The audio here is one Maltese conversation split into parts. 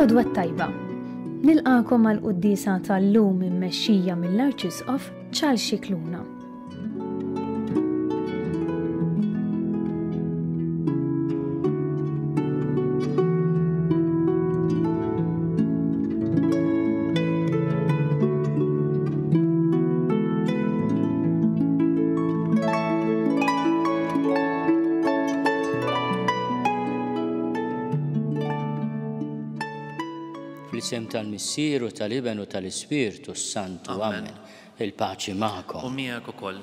L-għodwa t-tajba. Nilqagħkom għall-quddiesa tal-lum immexxija mill-Arċisqof Charles Scicluna. Fl-isem tal-Missier u tal-Iben u tal-Ispirtu s-Santu. Amen. Il-paċi magħkom. U miegħek ukoll.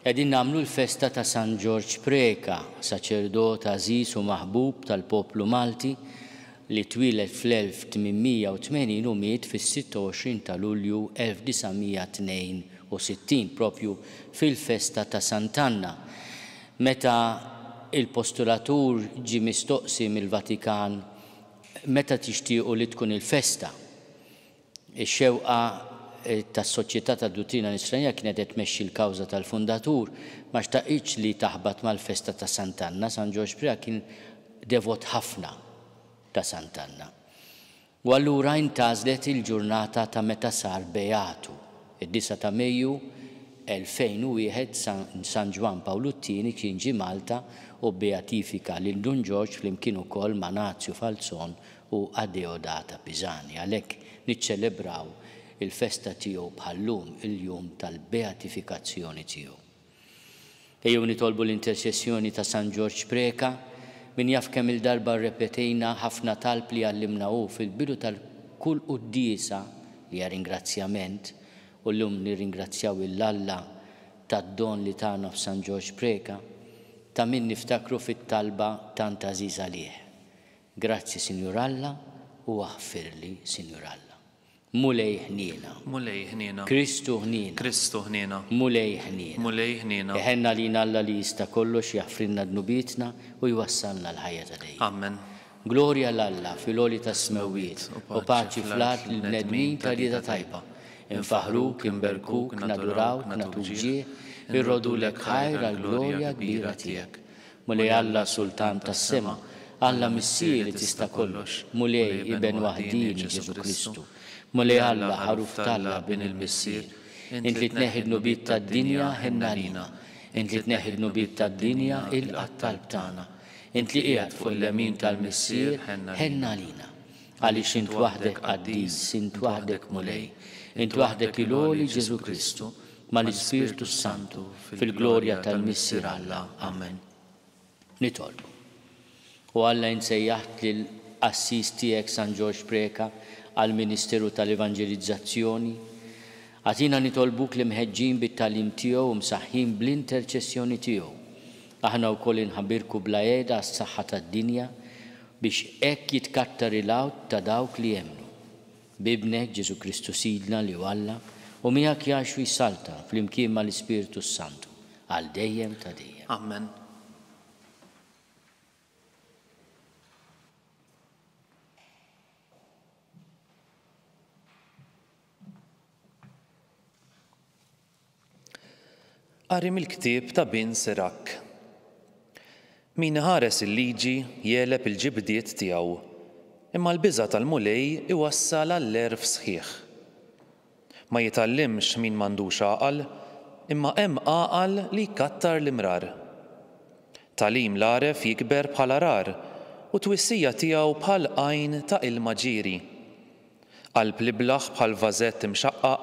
Qegħdin nagħmlu l-festa ta' San Ġorġ Preca, saċerdot għażiż u maħbub tal-poplu Malti li twieled fl-1880 u miet fis-26 ta' Lulju 1962, propju fil-festa ta' Sant'Anna. Meta il-postulatur ġie mistoqsi mill-Vatikan meta tixtiequ li tkun il-festa, Ix-xewqa tas-Soċjetà tad-Duttrina Nisranija kienet qed tmexxi l-kawża tal-fundatur, ma xtaqitx li taħbat mal-festa ta' Sant'Anna. San Ġorġ Preca kien devot ħafna ta' Sant'Anna. U allura intgħażlet il-ġurnata ta' meta sar beatu, id-disgħa ta' Mejju 2001 San Ġwann Pawlu t-Tieni kien ġie Malta u bbeatifika lil Dun Ġorġ flimkien ukoll ma' Nazju Falzon u Adeodata Pisani. Għalhekk niċċelebraw il-festa tiegħu bħal-lum, il-jum tal-beatifikazzjoni tiegħu. Ejjew nitolbu l-interċessjoni ta' San Ġorġ Preca, min jaf kemm-il darba rrepetejna ħafna talb li għallimna hu fil-bidu tal-kull quddiesa li hija ringrazzjament, u llum nirringrazzjaw 'il Alla tad-don li tana f'San Ġorġ Preca, ta' min niftakru fit-talba tant għażiża għalih. Grazzi Sinjur Alla u aħfirli Sinjur Alla. Mulej ħniena. Mulej ħniena. Kristu ħniena. Kristu ħniena. Mulej ħniena. Mulej ħniena. Iħenn għalina Alla li jista' kollox jaħfrilna dnubietna u jwassalna l-ħajja ta' dejjem. Amen. Glorja 'l Alla fil-għoli tas-smewwiet u paċi fl-art lill-bnedmin ta' rieda tajba. Infaħħruk, inberkuk, nadurawk, nagħtuk ġieħ, irrodulek ħajr għall-glorja kbira tiegħek. Mulej Alla Sultan tas-sema, Alla Missier li tista' kollox, Mulej Iben waħdieni Ġesù Kristu, Mulej Alla Ħaruf t'Alla Bin il-Missier, int li tneħħi d-dnubiet tad-dinja ħenn għalina, int li tneħħi d-dnubiet tad-dinja ilqa' t-talb tagħna, int li qiegħed fuq il-lemin tal-Missier ħenn għalina. Għaliex int waħdek qaddis, int waħdek Mulej, int waħdek il-għoli Ġesù Kristu, mal-Ispirtu s-Santu, fil-glorja tal-Missier Alla. Amen. Nitolbu. O Alla int sejjaħt lill-qassis tiegħek San Ġorġ Preca għall-ministeru tal-evanġelizzazzjoni. Agħtina nitolbuk li mħeġġin bit-tagħlim tiegħu u msaħħin bl-interċessjoni tiegħu, aħna wkoll inħabirku bla qiegħda għas-saħħa tad-dinja biex hekk jitkattar il-għawd ta' dawk li jemmnu. B'Ibnek, Ġesù Kristu Sidna, li hu Alla, u miegħek jgħix u jsaltan, flimkien mal-Ispirtu s-Santu, għal dejjem ta' dejjem. Amen. Qari mill-ktieb ta' Bin Sirak. Min iħares il-liġi jegħleb il-ġibdiet tiegħu, imma l-biża' tal-Mulej iwassal għall-għerf sħiħ. Ma jitgħallimx min m'għandux għaqal, imma hemm għaqal li jkattar l-imrar. Tagħlim l-għaref jikber bħal għarar, u t-twissija tiegħu bħal għajn ta' ilma ġieri. Qalb l-iblah bħal vażett imxaqqaq,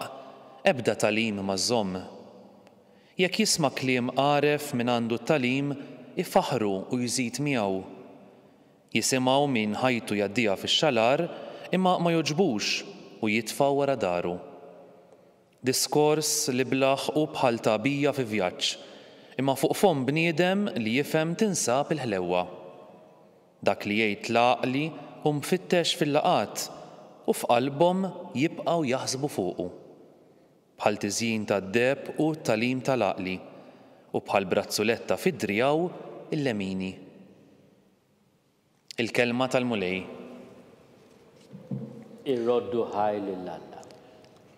ebda tagħlim ma żżomm. Jekk jisma' kliem għaref minn għandu t-tagħlim, ifaħħru u jżid miegħu. Jisimgħu min ħajtu jgħaddiha fix-xalar, imma ma jogħġbux u jitfgħu wara daru. Diskors l-iblah hu bħal tagħbija fi vjaġġ, imma fuq fomm bniedem li jifhem tinsab il-ħlewwa. Dak li jgħid l-għaqli hu mfittex fil-laqgħat, u f'qalbhom jibqgħu jaħsbu fuqu. Bħal tiżjin tad-deheb hu t-tagħlim tal-għaqli, u bħal brazzuletta fi driegħu l-lemini. Il-Kelma tal-Mulej. Irroddu ħajr lil Alla.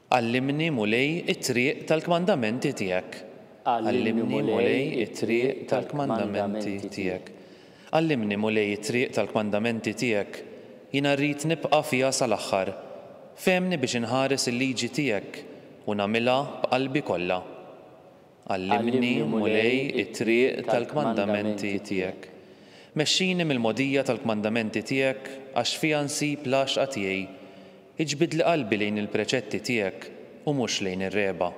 Għallimni, Mulej, it-triq tal-kmandamenti tiegħek. Għallimni, Mulej, it-triq tal-kmandamenti tiegħek. Għallimni, Mulej, it-triq tal-kmandamenti tiegħek. Jiena rrid nibqa' fiha sal-aħħar. Fehmni biex inħares il-liġi tiegħek u nagħmilha b'qalbi kollha. Għallimni, Mulej, it-triq tal-kmandamenti tiegħek. Mexxini mill-mogħdija tal-kmandamenti tiegħek, għax fiha nsib l-għaxqa tiegħi. Iġbidli qalbi lejn il-preċetti tiegħek u mhux lejn ir-regħba.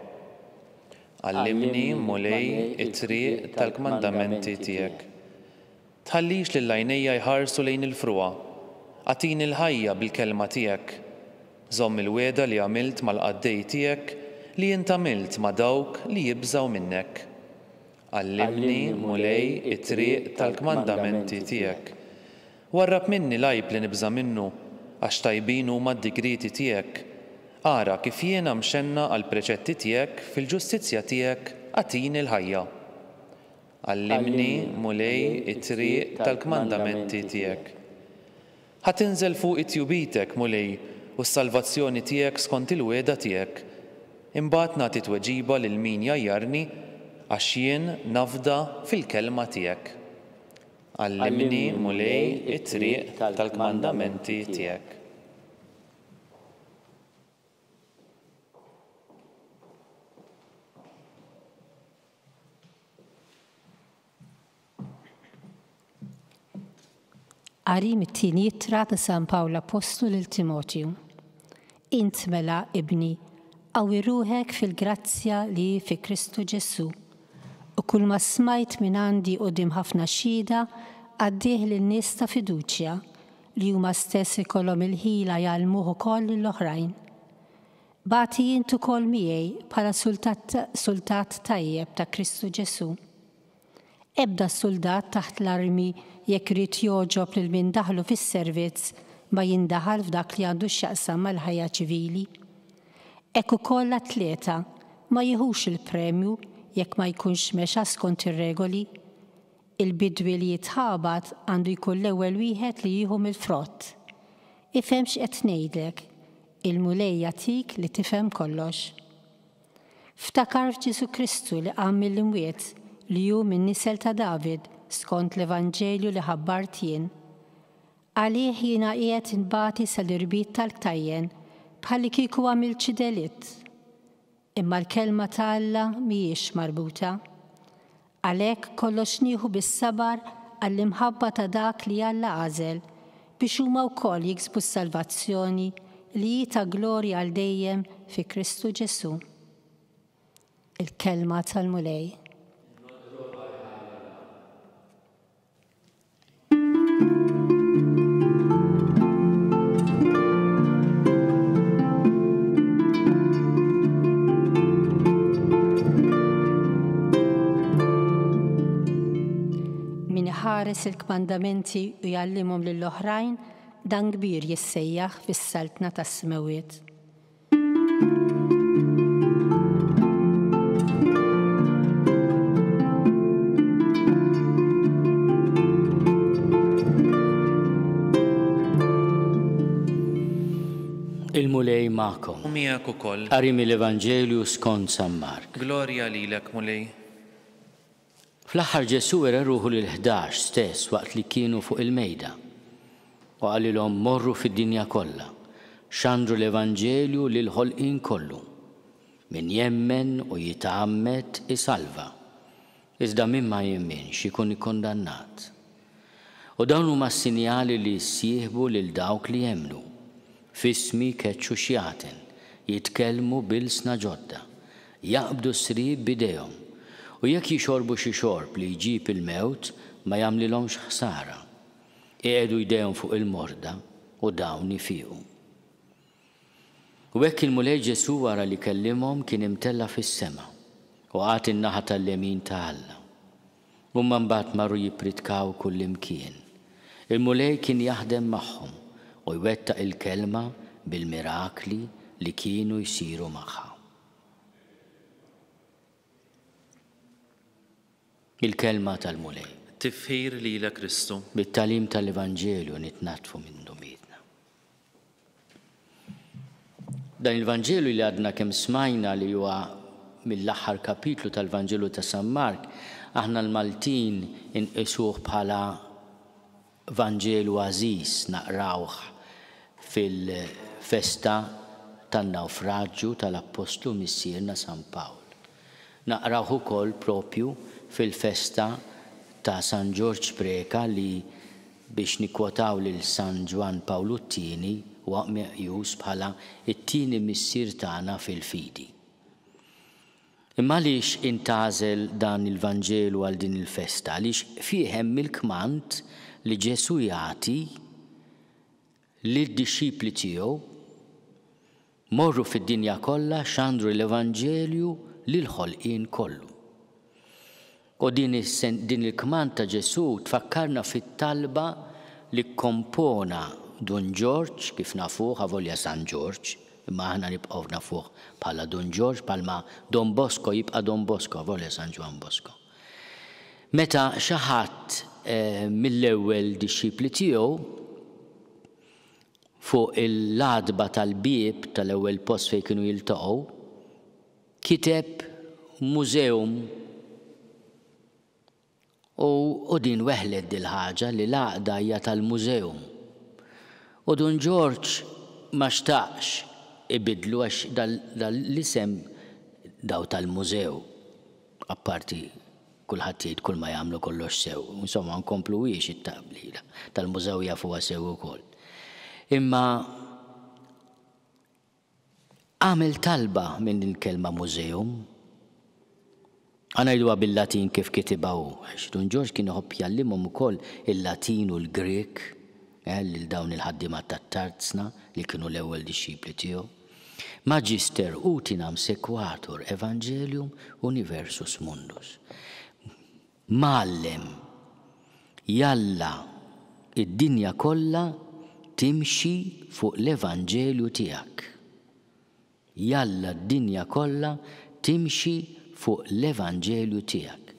Għallimni, Mulej, it-triq tal-kmandamenti tiegħek. Tħallix lil għajnejja jħarsu lejn il-frugħa. Agħtini l-ħajja bil-kelma tiegħek. Żomm il-wegħda li għamilt mal-qaddej tiegħek, li int għamilt ma' dawk li jibżgħu minnek. Għallimni, Mulej, it-triq tal-kmandamenti tiegħek. Warrab minni l-għajb li nibża' minnu, għax tajbin huma d-digrieti tiegħek. Ara kif jiena mxennaq għall-preċetti tiegħek, fil-ġustizzja tiegħek agħtini l-ħajja. Għallimni, Mulej, it-triq tal-kmandamenti tiegħek. Ħa tinżel fuqi tjubitek, Mulej, u s-salvazzjoni tiegħek skont il-wegħda tiegħek. Imbagħad nagħti tweġiba lil min jgħajjarni, għax jien nafda fil-kelma tiegħek. Għallimni, Mulej, it-triq tal-kmandamenti tiegħek. Qari mit-tieni ittra ta' San Pawl Appostlu lil Timotju. Int mela, ibni, qawwi ruħek fil-grazzja li hi fi Kristu Ġesù. U kulma smajt minn għandi quddiem ħafna xhieda, għaddih lil nies ta' fiduċja, li huma stess ikollhom il-ħila jgħallmuh ukoll lill-oħrajn. Bati int ukoll miegħi bħala sultat, sultat tajjeb ta' Kristu Ġesù. Ebda suldat taħt l-armi jekk irid jogħġob lil min daħlu fis-servizz ma jindaħal f'dak li għandu x'jaqsam mal-ħajja ċivili. Hekk ukoll l-atleta ma jiħux il-premju jekk ma jkunx mexa skont ir-regoli. Il-bidwi li jitħabat għandu jkun l-ewwel wieħed li jieħu mill-frott. Ifhem x'qed ngħidlek, Il-Mulej jagħtik li tifhem kollox. Ftakar f'Ġesù Kristu li qam mill-imwiet, li hu min-nisel ta' David, skont l-evanġelju li ħabbart jien. Għalih jiena qiegħed inbati sal-irbit tal-ktajjen, bħallikieku għamilt xi delitt. Imma l-kelma ta' Alla mhijiex marbuta. Għalhekk kollox nieħu bis-sabar għall-imħabba ta' dak li Alla għażel, biex huma wkoll jiksbu s-salvazzjoni li hi ta' glorja għal dejjem fi Kristu Ġesù. Il-Kelma tal-Mulej. Min iħares il-kmandamenti u jgħallimhom lill-oħrajn, dan kbir jissejjaħ fis-saltna tas-smewwiet. Il-Mulej magħkom. U miegħek ukoll. Qari mill-Evanġelju skont San Mark. Glorja lilek, Mulej. Fl-aħħar Ġesù wera ruħu lill-Ħdax stess waqt li kienu fuq il-mejda, u qalilhom, Morru fid-dinja kollha, xandru l-evanġelju lill-ħolqien kollu. Min jemmen u jitgħammed isalva, iżda min ma jemminx ikun ikkundannat. U dawn huma s-sinjali li jissieħbu lil dawk li jemmnu, F'ismi jkeċċu xjaten, jitkellmu b'ilsna ġodda, jaqbdu s-sriep b'idejhom, u jekk jixorbu xi xorb li jġib il-mewt ma jagħmlilhomx ħsara. Iqiegħdu jdejhom fuq il-morda u dawn ifiqu. U hekk il-Mulej Ġesù wara li kellimhom kien imtella' fis-sema u qagħad in-naħa tal-lemin ta' Alla. Huma mbagħad marru jippritkaw kullimkien. Il-Mulej kien jaħdem magħhom u jwettaq il-kelma bil-mirakli li kienu jsiru magħha. Il-Kelma tal-Mulej. Tifħir lilek Kristu. Bit-tagħlim tal-Evanġelju nitnaddfu minn dnubietna. Dan il-Vanġelu li għadna kemm smajna li huwa mill-aħħar kapitlu tal-Vanġelu ta' San Mark, aħna l-Maltin inqisuh bħala Vanġelu għażiż naqrawh. fil-festa tan-nawfraġġju tal-Appostlu Missierna San Pawl. Naqrawh ukoll propju fil-festa ta' San Ġorġ Preca li, biex nikkwotaw lil San Ġwann Pawlu t-Tieni, huwa meqjus bħala t-tieni missier tagħna fil-fidi. Imma għaliex intgħażel dan il-Vanġelu għal din il-festa? Għaliex fih hemm il-kmand li Ġesù jagħti lid-dixxipli tiegħu, Morru fid-dinja kollha xandru l-Evanġelju lill-ħolqien kollu. U din din il-kmand ta' Ġesù tfakkarna fit-talba li kkompona Dun Ġorġ, kif nafuh, avolja San Ġorġ, imma aħna nibqgħu nafuh bħala Dun Ġorġ, bħalma Don Bosco jibqa' Don Bosco, avolja San Ġwann Bosco. Meta xi ħadd mill-ewwel dixxipli tiegħu fuq l-għatba tal-bieb tal-ewwel post fejn kienu jiltaqgħu, kiteb museum u u din weħlet dil-ħaġa li l-għaqda hija tal-museum. U Dun Ġorġ ma xtaqx ibiddlu għax dal-isem daw tal-mużew, apparti kulħadd jgħid kull ma jagħmlu kollox sew. Insomma, nkompluhiex it-taqblila. Tal-mużew jafuha sew ukoll. Imma Għamel talba minn il-kelma museum. Ħa ngħiduha bil-Latin kif kitibha hu, għax Dun Ġorġ kien iħobb jgħallimhom ukoll il-Latin u l-Grieg eh, lil dawn il-ħaddiema tat-tarzna li kienu l-ewwel dixxipli tiegħu. Magister utinam sequatur evangelium universus mundus. Mgħallem, jalla d-dinja kollha timxi fuq l-evanġelju tiegħek. Jalla d-dinja kollha timxi fuq l-evanġelju tiegħek.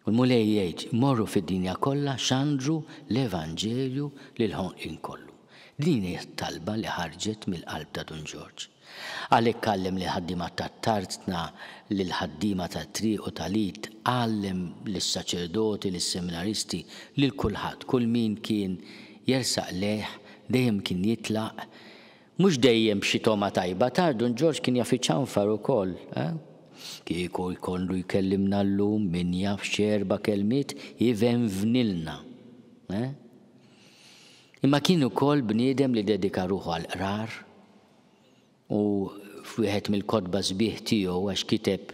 U l-Mulej jgħid, morru fid-dinja kollha xandru l-evanġelju lill-ħonqien kollu. Din hi t-talba li ħarġet mill-qalb ta' Dun Ġorġ. Għalhekk għallem lill-ħaddiema tat-tarzna, lill-ħaddiema tat-triq u tal-id, għallem lis-saċerdoti, lis-seminaristi, lil kulħadd, kull min kien jersaq lejh dejjem kien jitlaq, mhux dejjem b'xi togħma tajba, tard Dun Ġorġ kien jaf iċanfar ukoll, eh? Kieku jkollu jkellimna llum min jaf x'erba' kelmiet ivenvnilna, eh? Imma kien ukoll bniedem li ddedika ruħu għall-qrar u f'wieħed mill-kotba sbieħ tiegħu għax kiteb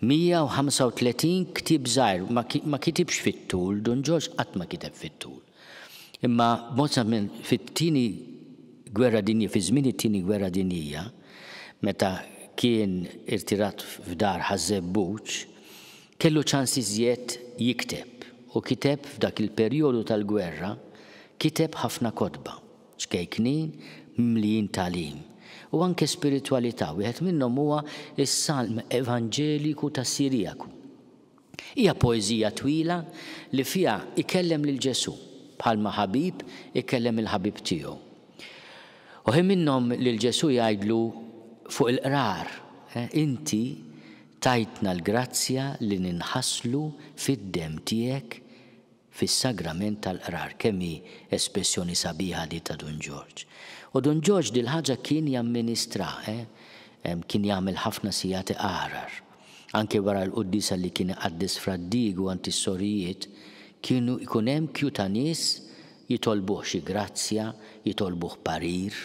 135 ktieb żgħir, ma kitibx fit-tul, Dun Ġorġ qatt ma kiteb fit-tul. Imma b'mod fit-tieni gwerra dinjija, fi żmien it-tieni gwerra dinjija, meta kien irtirat f'dar Ħaż-Żebbuġ, Kellu ċans iżjed jikteb u kiteb f'dak il-perjodu tal-gwerra kiteb ħafna kotba, ċkejknin, mimlijin tagħlim u anke spiritwalità, wieħed minnhom huwa s-Salm Evanġeliku ta' Sirijaku. Hija poeżija twila li fiha ikellem lil Ġesù, bħalma ħabib ikellem il-ħabib tiegħu. U ħin minnhom lil Ġesù jgħidlu fuq il-qrar, Inti Tajtna l-grazzja li ninħaslu fid-demm tiegħek fis-sagrament tal-qrar. Kemm hi espressjoni sabiħa di ta' Dun Ġorġ. U Dun Ġorġ dil-ħaġa kien jamministra, eh? Kien jagħmel ħafna sigħat iqarar. Anke wara l-quddiesa li kien iqaddes Fra Diegu għand is-sorijiet, kienu jkun hemm kju ta' nies jitolbuh xi grazzja, jitolbuh parir.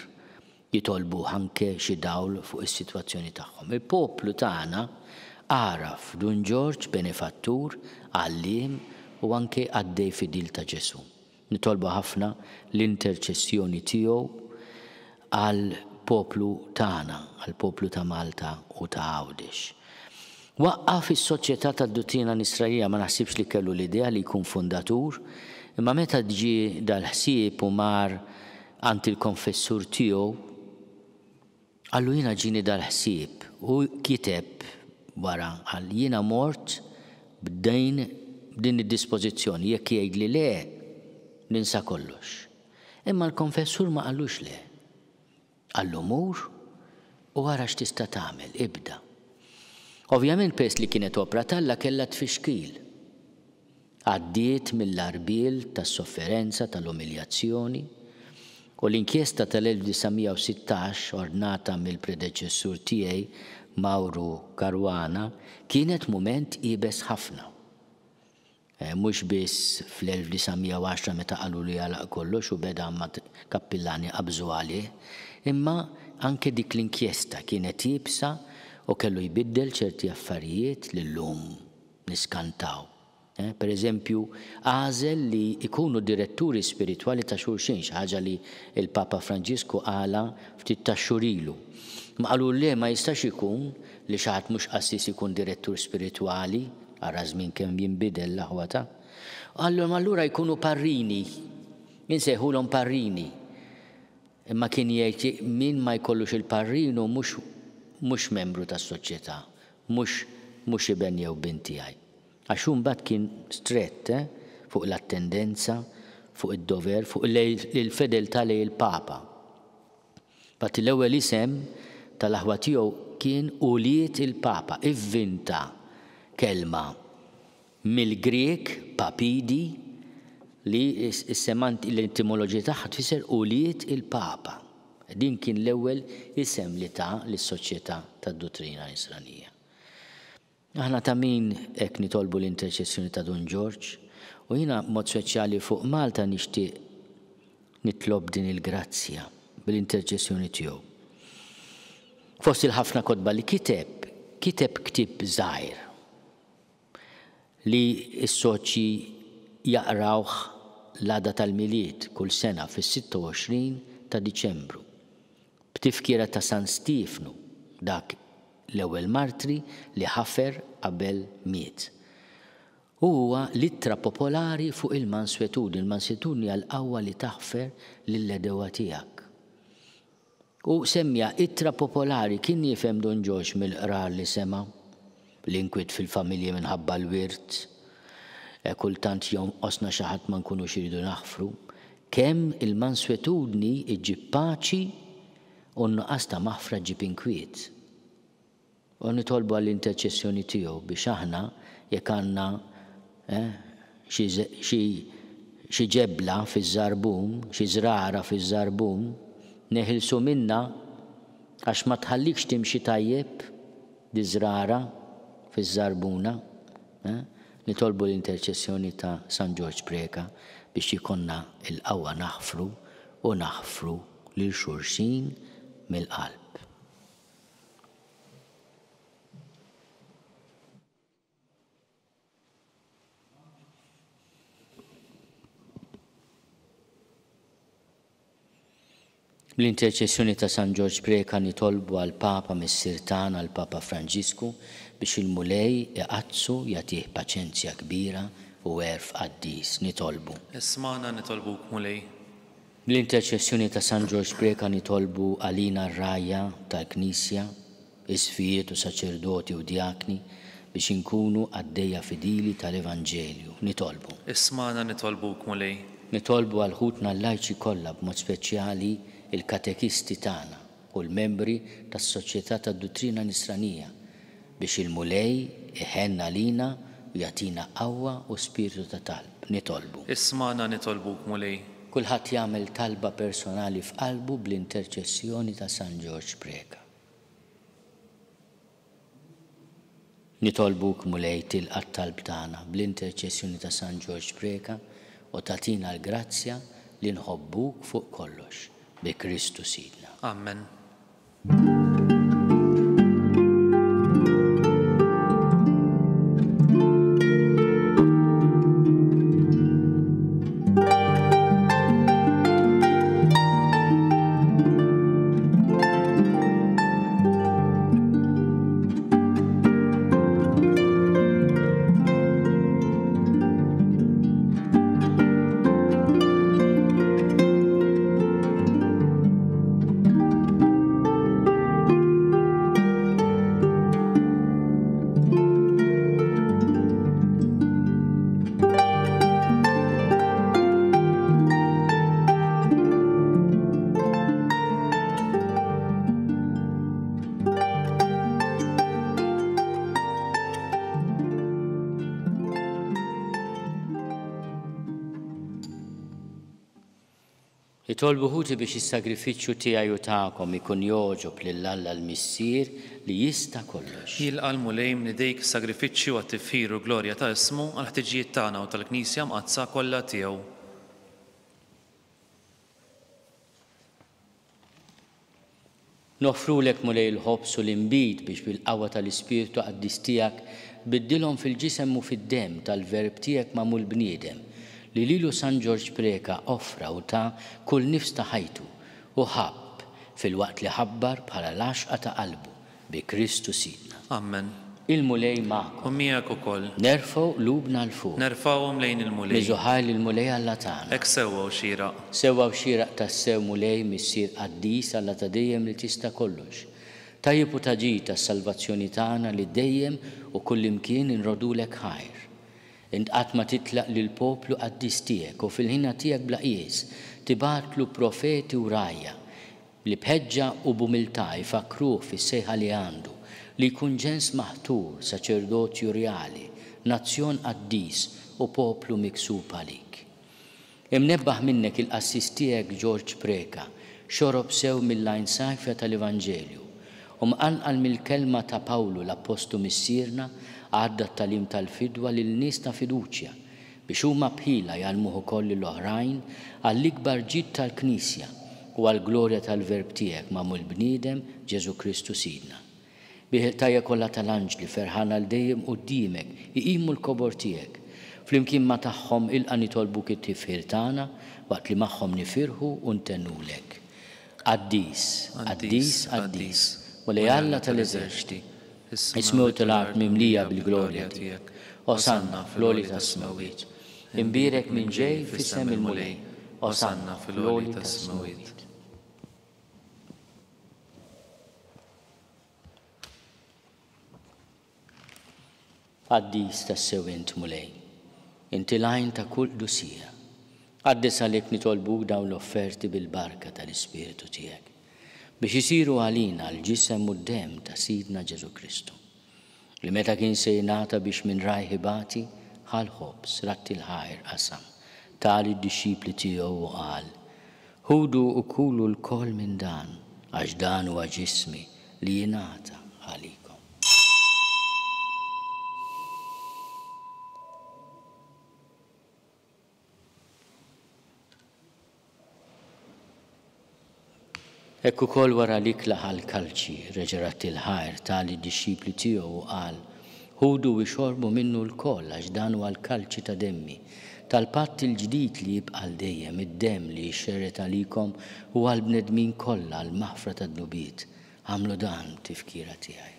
Jitolbuh anke xi dawl fuq is-sitwazzjoni tagħhom. Il-poplu tagħna għaraf Dun Ġorġ benefattur, għalliem u anke qaddej fidil ta' Ġesù. Nitolbu ħafna l-interċessjoni tiegħu għall-poplu tagħna, għall-poplu ta' Malta u ta' Għawdex. Waqqaf is-Soċjetà tad-Duttrina Nisranija, ma naħsibx li kellu l-idea li jkun fundatur, imma meta ġie dal-ħsieb u mar għand il-konfessur tiegħu, qallu jiena ġieni dal-ħsieb u kiteb wara qal jiena mort b'din b'din id-dispożizzjoni jekk jgħidli le ninsa kollox. Imma l-konfessur ma qallux le. Qallu mur u ara x'tista' tagħmel, ibda. Ovvjament peress li kienet opra t'Alla kellha tfixkil. Għaddiet mill-għarbiel tas-sofferenza, tal-umiljazzjoni. U l-inkjesta tal-1916 ordnata mill-predeċessur tiegħi Mauro Caruana kienet mument iebes ħafna. Mhux biss fl-1910 meta qalulu jagħlaq kollox u beda ma' kappillani qabżu għalih, imma anke dik l-inkjesta kienet iebsa u kellu jbiddel ċerti affarijiet li llum niskantaw. Per eżempju, għażel li jkunu diretturi spiritwali ta' xulxin, xi ħaġa li l-Papa Franġisku qalha ftit tax-xhur ilu. Imma qalulu le ma jistax ikun li xi ħadd mhux qassis ikun direttur spiritwali, ara ż-żmien kemm jinbidel l-aħwa ta'. Qalilhom allura jkunu parrini, insejħulhom parrini. Imma kien jgħid min ma jkollux il-parrinu mhux mhux membru tas-soċjetà, mhux mhux iben jew bint tiegħi. Għax hu mbagħad kien strett, eh, fuq l-attendenza, fuq id-dover, fuq il-fedeltà lejn il-Papa. Infatti l-ewwel isem tal-aħwa tiegħu kien Ulied il-Papa, ivvinta kelma mill-Grieg papidi li l-etimoloġija tagħha tfisser ulied il-Papa. Din kien l-ewwel isem li ta lis-Soċjetà tad-Duttrina Nisranija. Aħna ta' min hekk nitolbu l-interċessjoni ta' Dun Ġorġ, u jiena b'mod speċjali fuq Malta nixtieq nitlob din il-grazzja bl-interċessjoni tiegħu. Fost il-ħafna kotba li kiteb, kiteb ktieb żgħir li s-soċji jaqrawh l-għada tal-Milied kull sena fis-26 ta' Diċembru, b'tifkira ta' San Stiefnu, dak l-ewwel martri li ħafer qabel miet. U huwa l-ittra popolari fuq il-manswetudni. Il-manswetudni hija l-qawwa li taħfer lill-għedewwa tiegħek. U semmiha ittra popolari, kien jifhem Dun Ġorġ mill-qrar li sema', l-inkwiet fil-familji minħabba l-wirt, kultant jonqosna xi ħadd ma nkunux irridu naħfru, kemm il-manswetudni ġġib paċi U n-nuqqas ta' maħfra ġġib inkwiet. U nitolbu għall-interċessjoni tiegħu biex aħna, jekk għandna, eh, xi, xi, xi ġebla fiż-żarbun, xi żrara fiż-żarbun, neħilsu minnha għax ma tħallikx timxi tajjeb di żrara fiż-żarbuna, eh. Nitolbu l-interċessjoni ta' San Ġorġ Preca biex jkollna l-qawwa naħfru u naħfru lil xulxin mill-qalb. Bl-interċessjoni ta' San Ġorġ Preca nitolbu għall-Papa Missier tagħna l-Papa Franġisku biex il-Mulej iqaddsu, jagħtih paċenzja kbira u għerf qaddis. Nitolbu. Ismagħna nitolbuk Mulej. Bl-interċessjoni ta' San Ġorġ Preca nitolbu għalina r-rgħajja tal-Knisja, isqfijiet u saċerdoti u djakni, biex inkunu qaddejja fidili tal-Evanġelju. Nitolbu. Ismagħna nitolbuk, Mulej. Nitolbu għal ħutna l-lajċi kollha b'mod speċjali l-katekisti tagħna u l-membri tas-Soċjetà tad-Duttrina Nisranija, biex il-Mulej iħenn għalina u jagħtina qawwa u spirtu ta' talb. Nitolbu. Ismagħna nitolbuk, Mulej. Kulħadd jagħmel talba personali f'qalbu bl-interċessjoni ta' San Ġorġ Preca. Nitolbuk, Mulej, tilqa' t-talb tagħna bl-interċessjoni ta' San Ġorġ Preca u tagħtina l-grazzja li nħobbuk fuq kollox, bi Kristu Sidna. Amen. Itolbu ħuti biex is-sagrifiċċju tiegħi u tagħkom ikun jogħġob lil Alla l-Missier li jista' kollox. Jilqa' l-Mulej minn idejk is-sagrifiċċju għat-tifħir u l-glorja ta' ismu, għall-ħtiġijiet tagħna u tal-Knisja mqaddsa kollha tiegħu. Noffrulek, Mulej, il-ħobż u l-inbid biex bil-qawwa tal-Ispirtu Qaddis tiegħek tbiddilhom fil-ġisem u fid-demm tal-Verb tiegħek magħmul bniedem, li lilu San Ġorġ Preca offra u ta kull nifs ta' ħajtu u ħabb filwaqt li ħabbar bħala l-għaxqa ta' qalbu, Bi Kristu Sidna. Ammen. Il-Mulej magħkom. U miegħek ukoll. Nerfgħu qlubna 'l fuq. Nerfgħuhom lejn il-Mulej. Niżu ħajr lill-Mulej Alla tagħna. Hekk sewwa u xieraq. Sewwa u xieraq tassew, Mulej, Missier qaddis, Alla ta' dejjem li tista' kollox. Tajjeb u ta' ġid għas-salvazzjoni tagħna li dejjem u kullimkien inrodulek ħajr. Int qatt ma titlaq lill-poplu qaddis tiegħek u fil-ħina tiegħek bla qies tibgħatlu profeti u rgħajja li b'ħeġġa u b'umiltà jfakkruh fis-sejħa li għandu, li jkun ġens maħtur, saċerdozju rjali, nazzjon qaddis u poplu miksub għalik. Imnebbaħ minnek il-qassis tiegħek Ġorġ Preca xorob sew mill-għajn safja tal-Evanġelju, u mqanqal mill-kelma ta' Pawlu l-Appostlu Missierna għadda t-tagħlim tal-fidwa lil nies ta' fiduċja, biex huma b'ħila jgħallmuh ukoll lil oħrajn għall-ikbar ġid tal-Knisja u għall-glorja tal-Verb tiegħek magħmul bniedem, Ġesù Kristu Sidna. Bih il-qtajja kollha tal-anġli ferħana għal dejjem quddiemek iqimu l-kobor tiegħek. Flimkien ma' tagħhom ilqa' nitolbuk it-tifħir tagħna waqt li magħhom nifirħu u ntennulek. Qaddis, qaddis, qaddis, Mulej Alla tal-eżerċti, Is-smewwiet u l-art mimlija bil-glorja tiegħek. Osanna fl-għoli tas-smewwiet. Imbierek min ġej f'isem il-Mulej. Osanna fl-għoli tas-smewwiet. Qaddis tassew int, Mulej. Inti l-għajn ta' kull qdusija. Qaddes għalhekk nitolbuk dawn l-offerti bil-barka tal-Ispirtu tiegħek, biex isiru għalina l-ġisem u d-demm ta' Sidna Ġesù Kristu, li meta kien se jingħata biex minn rajh ibati, ħa l-ħobż, radd il-ħajr, qasam, ta lid-dixxipli tiegħu u qal, Ħudu u kulu lkoll minn dan, għax dan huwa ġismi li jingħata għalikom. Hekk ukoll wara l-ikla ħa l-kalċi, reġa' radd il-ħajr, ta lid-dixxipli tiegħu u qal, Ħudu u ixorbu minnu lkoll, għax dan huwa l-kalċi ta' demmi, tal-patt il-ġdid li jibqa' għal dejjem, id-demm li jixxerred għalikom u għall-bnedmin kollha għall-maħfra tad-dnubiet. Agħmlu dan b'tifkira tiegħi.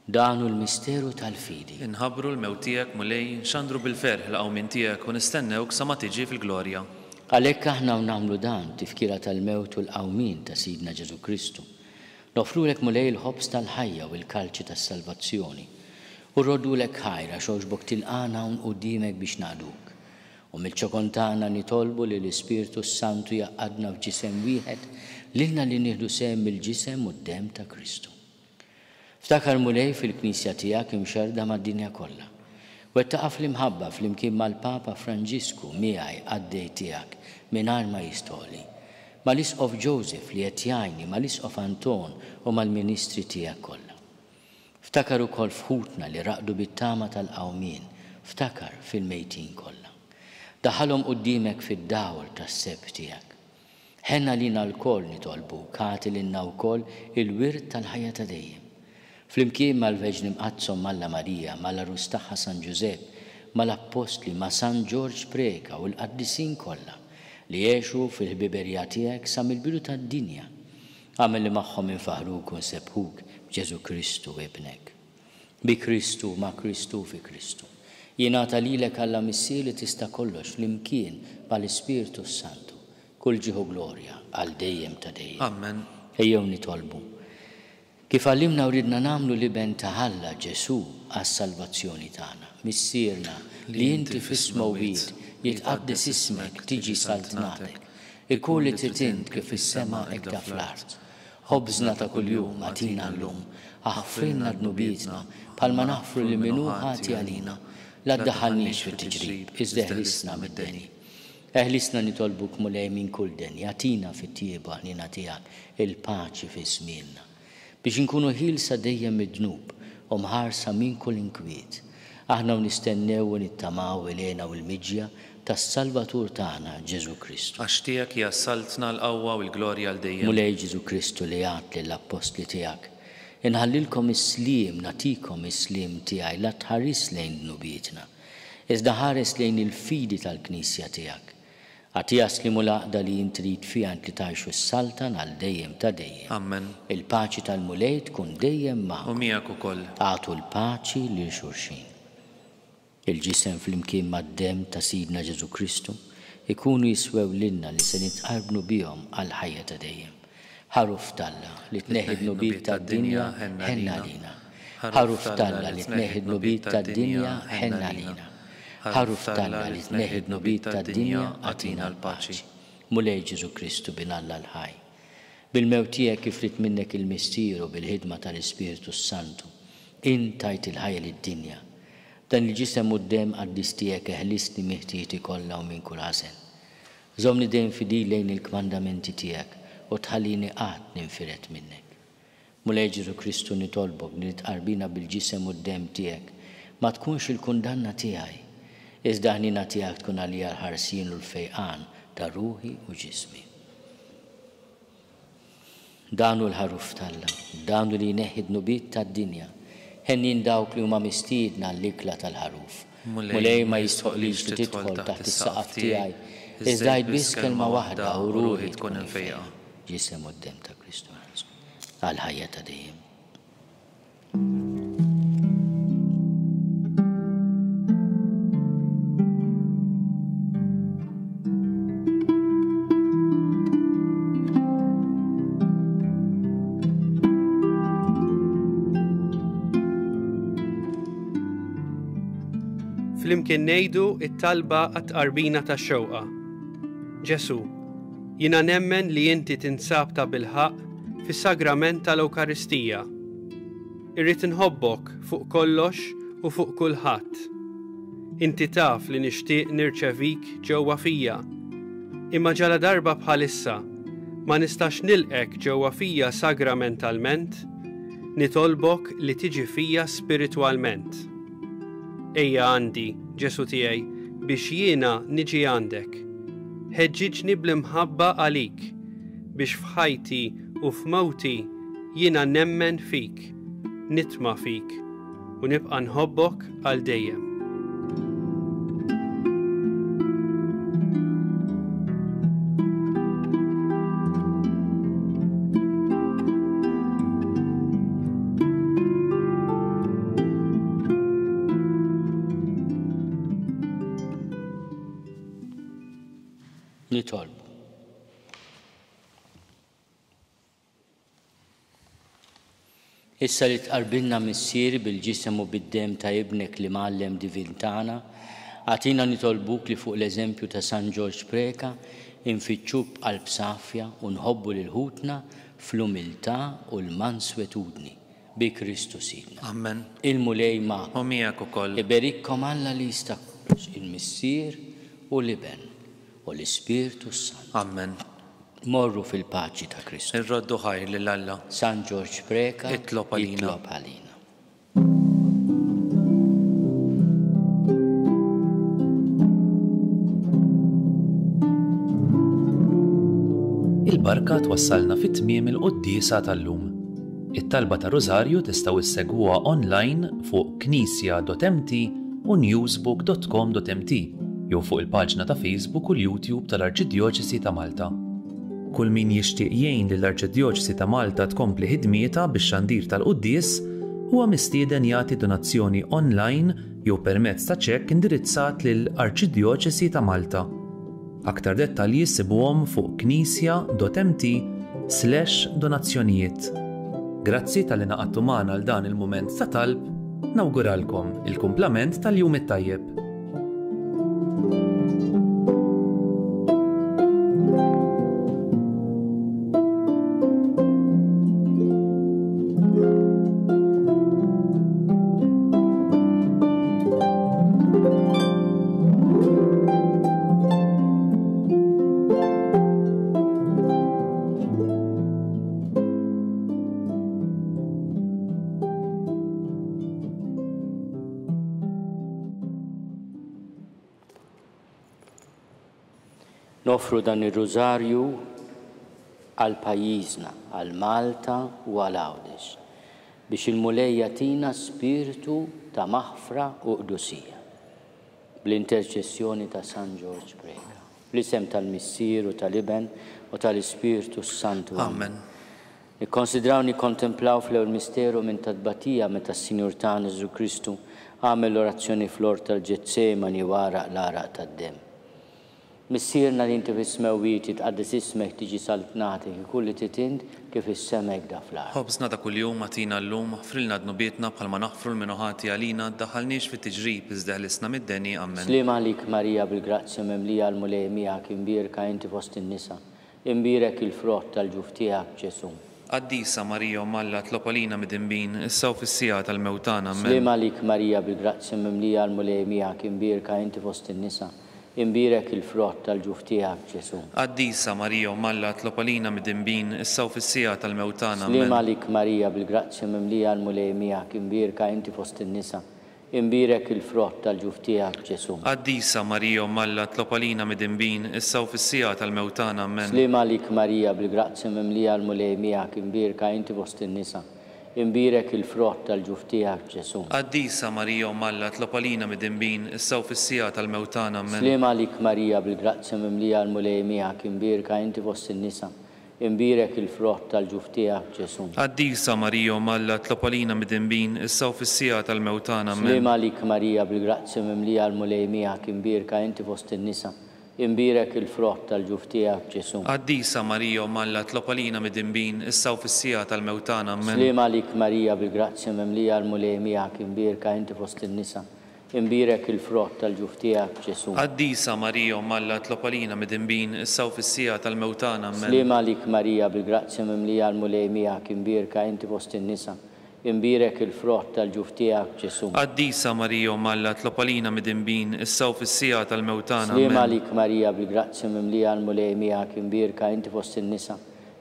Dan hu l-misteru tal-fidi. Inħabbru l-mewt tiegħek, Mulej, nxandru bil-ferħ il-qawmien tiegħek u nistennewk sa ma tiġi fil-glorja. Għalhekk aħna u nagħmlu dan, tifkira tal-mewt u l-qawmien ta' Sidna Ġesù Kristu, noffrulek, Mulej, il-ħobż tal-ħajja u l-kalċi tas-salvazzjoni, u rroddulek ħajr għax għoġbok tilqagħna hawn quddiemek biex naqduk. U mill-ċokon tagħna nitolbu li l-Ispirtu s-Santu jgħaqqadna f'ġisem wieħed lilna li nieħdu sehem mill-ġisem u d-demm ta' Kristu. Ftakar, Mulej, fil-Knisja tiegħek imxerrda mad-dinja kollha. Wettaqha fl-imħabba flimkien mal-Papa Franġisku, miegħi, qaddej tiegħek, mingħajr ma jistgħoli. Mal-Isqof Joseph li qed jgħinni, mal-Isqof Anton u mal-ministri tiegħek kollha. Ftakar ukoll f'ħutna li raqdu bit-tama tal-qawmien, ftakar fil-mejtin kollha. Daħħalhom quddiemek fid-dawl tas-sebħ tiegħek. Ħenn għalina lkoll, nitolbuk, agħti lilna wkoll il-wirt tal-ħajja ta' dejjem. Flimkien mal-Verġni Mqaddsa Omm Alla Marija, mal-Għarus tagħha San Ġużepp, mal-Appostli, ma' San Ġorġ Preca u l-qaddisin kollha, li għexu fil-ħbiberija tiegħek sa mill-bidu tad-dinja, agħmel li magħhom infaħħruk u nsebbħuk b'Ġesù Kristu Ibnek. Bi Kristu, ma' Kristu u fi Kristu. Jingħata lilek Alla Missier li tista' kollox flimkien mal-Ispirtu s-Santu, kull ġieħ u glorja għal dejjem ta' dejjem. Ammen. Ejjew nitolbu. Kif għallimna u riedna nagħmlu l-Iben ta' Alla, Ġesù, għas-salvazzjoni tagħna. Missierna, li inti fis-smewwiet, jitqaddes ismek, tiġi saltnatek. Ikun li trid int kif fis-sema hekk da fl-art. Ħobżna ta' kuljum agħtina llum. Aħfrilna dnubietna, bħalma naħfru lil min hu ħati għalina. La ddaħħalniex fit-tiġrib, iżda eħlisna mid-deni. Eħlisna nitolbuk Mulej minn kull deni, agħtina fit-tjieba ħniena tiegħek il-paċi fi żmienna, biex inkunu ħielsa dejjem mid-dnub u mħarsa minn kull inkwiet, aħna u nistennew u nittamaw il-hena u l-miġja tas-Salvatur tagħna Ġesù Kristu. Għax tiegħek hija s-saltna, l-qawwa u l-glorja għal dejjem. Mulej Ġesù Kristu li għedt lill-appostli tiegħek, Inħallilkom is-sliem, nagħtikom is-sliem tiegħi, la tħarisx lejn dnubietna, iżda ħares lejn il-fidi tal-Knisja tiegħek. Agħtiha s-sliem u l-għaqda li int trid fiha int li tgħix u ssaltan għal dejjem ta' dejjem. Ammen. Il-paċi tal-Mulej tkun dejjem U magħkom. miegħek ukoll. Agħtu l-paċi lil xulxin. Il-Ġisem flimkien mad-Demm ta' Sidna Ġesù Kristu jkunu jiswew lilna li se nitqarbnu bihom għall-ħajja ta' dejjem. Ħaruf t'Alla, li tneħħi d-dnubiet tad-dinja, ħenn għalina. Ħaruf t'Alla, li tneħħi d-dnubiet tad-dinja, ħenn għalina. Ħaruf t'Alla, li tneħħi d-dnubiet tad-dinja, agħtina l-paċi. Mulej Ġesù Kristu, Bin Alla l-ħaj, bil-mewt tiegħek kif ried minnek il-Missier u bil-ħidma tal-Ispirtu s-Santu, int tajt il-ħajja lid-dinja. B'dan il-Ġisem u d-Demm qaddis tiegħek eħlisni minn ħtijieti kollha u minn kull ħażen. Żommni dejjem fidil lejn il-kmandamenti tiegħek u tħallini qatt ninfired minnek. Mulej Ġesù Kristu nitolbok li l-tqarbina bil-Ġisem u d-Demm tiegħek ma tkunx il-kundanna tiegħi, iżda ħniena tiegħek tkun għalija l-ħarsien u l-fejqan ta' ruħi u ġismi. Dan hu l-Ħaruf t'Alla, dan hu li jneħħi d-dnubiet tad-dinja. Henjin dawk li huma mistiedna għall-ikla tal-Ħaruf. Mulej, ma jistħoqqlix li tidħol taħt is-saqaf tiegħi, iżda għid biss kelma waħda u ruħi tkun imfejqa. Ġisem u d-Demm ta' Kristu għall-ħajja ta' dejjem. Flimkien ngħidu it-talba għat-tqarbina tax-xewqa. Ġesu, jiena nemmen li inti tinsab ta' bilħaqq fis-sagrament tal-Ewkaristija. Irrid inħobbok fuq kollox u fuq kulħadd. Inti taf li nixtieq nirċevik ġewwa fija. Imma ġaladarba bħalissa ma nistax nilqgħek ġewwa fija sagramentalment, nitolbok li tiġi fija spiritwalment. Ejja għandi, Ġesù tiegħi, biex jiena niġi għandek. Ħeġġiġni bl-imħabba għalik, biex f'ħajti u f'mewti jiena nemmen fik, nitma' fik, u nibqa' nħobbok għal dejjem. Nitolbu. Issa li tqarbilna Missier bil-ġisem u bid-demm ta' Ibnek l-Imgħallem divin tagħna, agħtina nitolbuk li fuq l-eżempju ta' San Ġorġ Preca infittxuk b'qalb safja u nħobbu lil ħutna fl-umiltà u l-manswetudni. Bi Kristu Sidna. Ammen. Il-Mulej magħkom. U miegħek ukoll. Iberikkom Alla li jista' kollox, il-Missier u l-Iben u l-Ispirtu s-Santu. Ammen. Morru fil-paċi ta' Kristu. Irroddu ħajr lil Alla. San Ġorġ Preca, Itlob għalina. Itlob għalina. Il-barka twassalna fi tmiem il-quddiesa tal-lum. It-talba ta' Rużarju tistgħu issegwuha online fuq knisja.mt u newsbook.com.mt jew fuq il-paġna ta' Facebook u l-YouTube tal-Arċidjoċesi ta' Malta. Kull min jixtieq jgħin lill-Arċidjoċesi ta' Malta tkompli ħidmietha bix-xandir tal-quddies huwa mistieden jagħti donazzjoni online jew permezz ta' ċekk indirizzat lil Arċidjoċesi ta' Malta. Aktar dettalji ssibuhom fuq knisja.mt slash donazzjonijiet. Grazzi talli ngħaqadtu magħna għal dan il-mument ta' talb, nawguralkom il-kumplament tal-jum it-tajjeb. Noffru dan ir-Rużarju għal pajjiżna, għal Malta u għal Għawdex, biex il-Mulej jagħtina spirtu ta' maħfra u qdusija. Bl-interċessjoni ta' San Ġorġ Preca. Fl-isem tal-Missier u tal-Iben u tal-Ispirtu s-Santu. Amen. Nikkonsidraw nikkontemplaw fl-ewwel misteru minn ta' tbatija meta s-Sinjur tagħna Ġesù Kristu għamel l-orazzjoni fl-ort tal-Ġetsemani u għaraq l-għaraq tad-demm. Missierna li inti fis-smewwiet, jitqaddes ismek, tiġi saltnatek, ikun li trid int, kif fis-sema hekk da fl-art. Ħobżna ta' kuljum agħtina llum, aħfrilna dnubietna bħalma naħfru 'l min hu ħati għalina, ddaħħalniex fit-tiġrib, iżda eħlisna mid-deni. Ammen. Sliem għalik Marija bil-grazzja mimlija l-Mulej miegħek, imbierka inti fost in-nisa, imbierek il-frott tal-ġuf tiegħek, Ġesù. Qaddisa Marija Omm Alla tlob għalina midinbin, issa u fis-siegħa tal-mewt tagħna. Ammen. Sliem għalik Marija bil-grazzja mimlija l-Mulej miegħek, imbierka inti fost in-nisa, Imbierek il-frott tal-ġuf tiegħek, Ġesù. Qaddisa Marija Omm Alla tlob għalina midinbin, issa u fis-siegħa tal-mewt tagħna. Sliem Ammen. għalik Marija, bil-grazzja mimlija l-Mulej miegħek, imbierka inti fost in-nisa, imbierek il-frott tal-ġuf tiegħek, Ġesù. Qaddisa Marija Omm Alla tlob għalina midinbin, issa u fis-siegħa tal-mewt tagħna. Ammen. Sliem għalik Marija, bil-grazzja mimlija l-Mulej miegħek, imbierka inti fost in-nisa, Imbierek il-frott tal-ġuf tiegħek, Ġesù. Qaddisa Marija Omm Alla tlob għalina midinbin, issa u fis-siegħa tal-mewt tagħna. Ammen. Sliem għalik Marija, bil-grazzja mimlija l-Mulej miegħek, imbierka inti fost in-nisa, imbierek il-frott tal-ġuf tiegħek, Ġesù. Qaddisa Marija Omm Alla tlob għalina midinbin, issa u fis-siegħa tal-mewt tagħna. Ammen. Sliem għalik Marija, bil-grazzja mimlija l-Mulej miegħek, imbierka inti fost in-nisa, Imbierek il-frott tal-ġuf tiegħek, Ġesù. Qaddisa Marija Omm Alla tlob għalina midinbin, issa u fis-siegħa tal-mewt tagħna. Ammen. Sliem għalik Marija bil-grazzja mimlija l-Mulej miegħek, imbierka inti fost in-nisa, imbierek il-frott tal-ġuf tiegħek, Ġesù. Qaddisa Marija Omm Alla tlob għalina midinbin, issa u fis-siegħa tal-mewt tagħna. Ammen. Sliem għalik Marija bil-grazzja mimlija l-Mulej miegħek, imbierka inti fost in-nisa, Imbierek il-frott tal-ġuf tiegħek, Ġesù. Qaddisa Marija Omm Alla tlob għalina midinbin, issa u fis-siegħa tal-mewt tagħna. Sliem Ammen. għalik Marija bil-grazzja mimlija l-Mulej miegħek, imbierka inti fost in-nisa,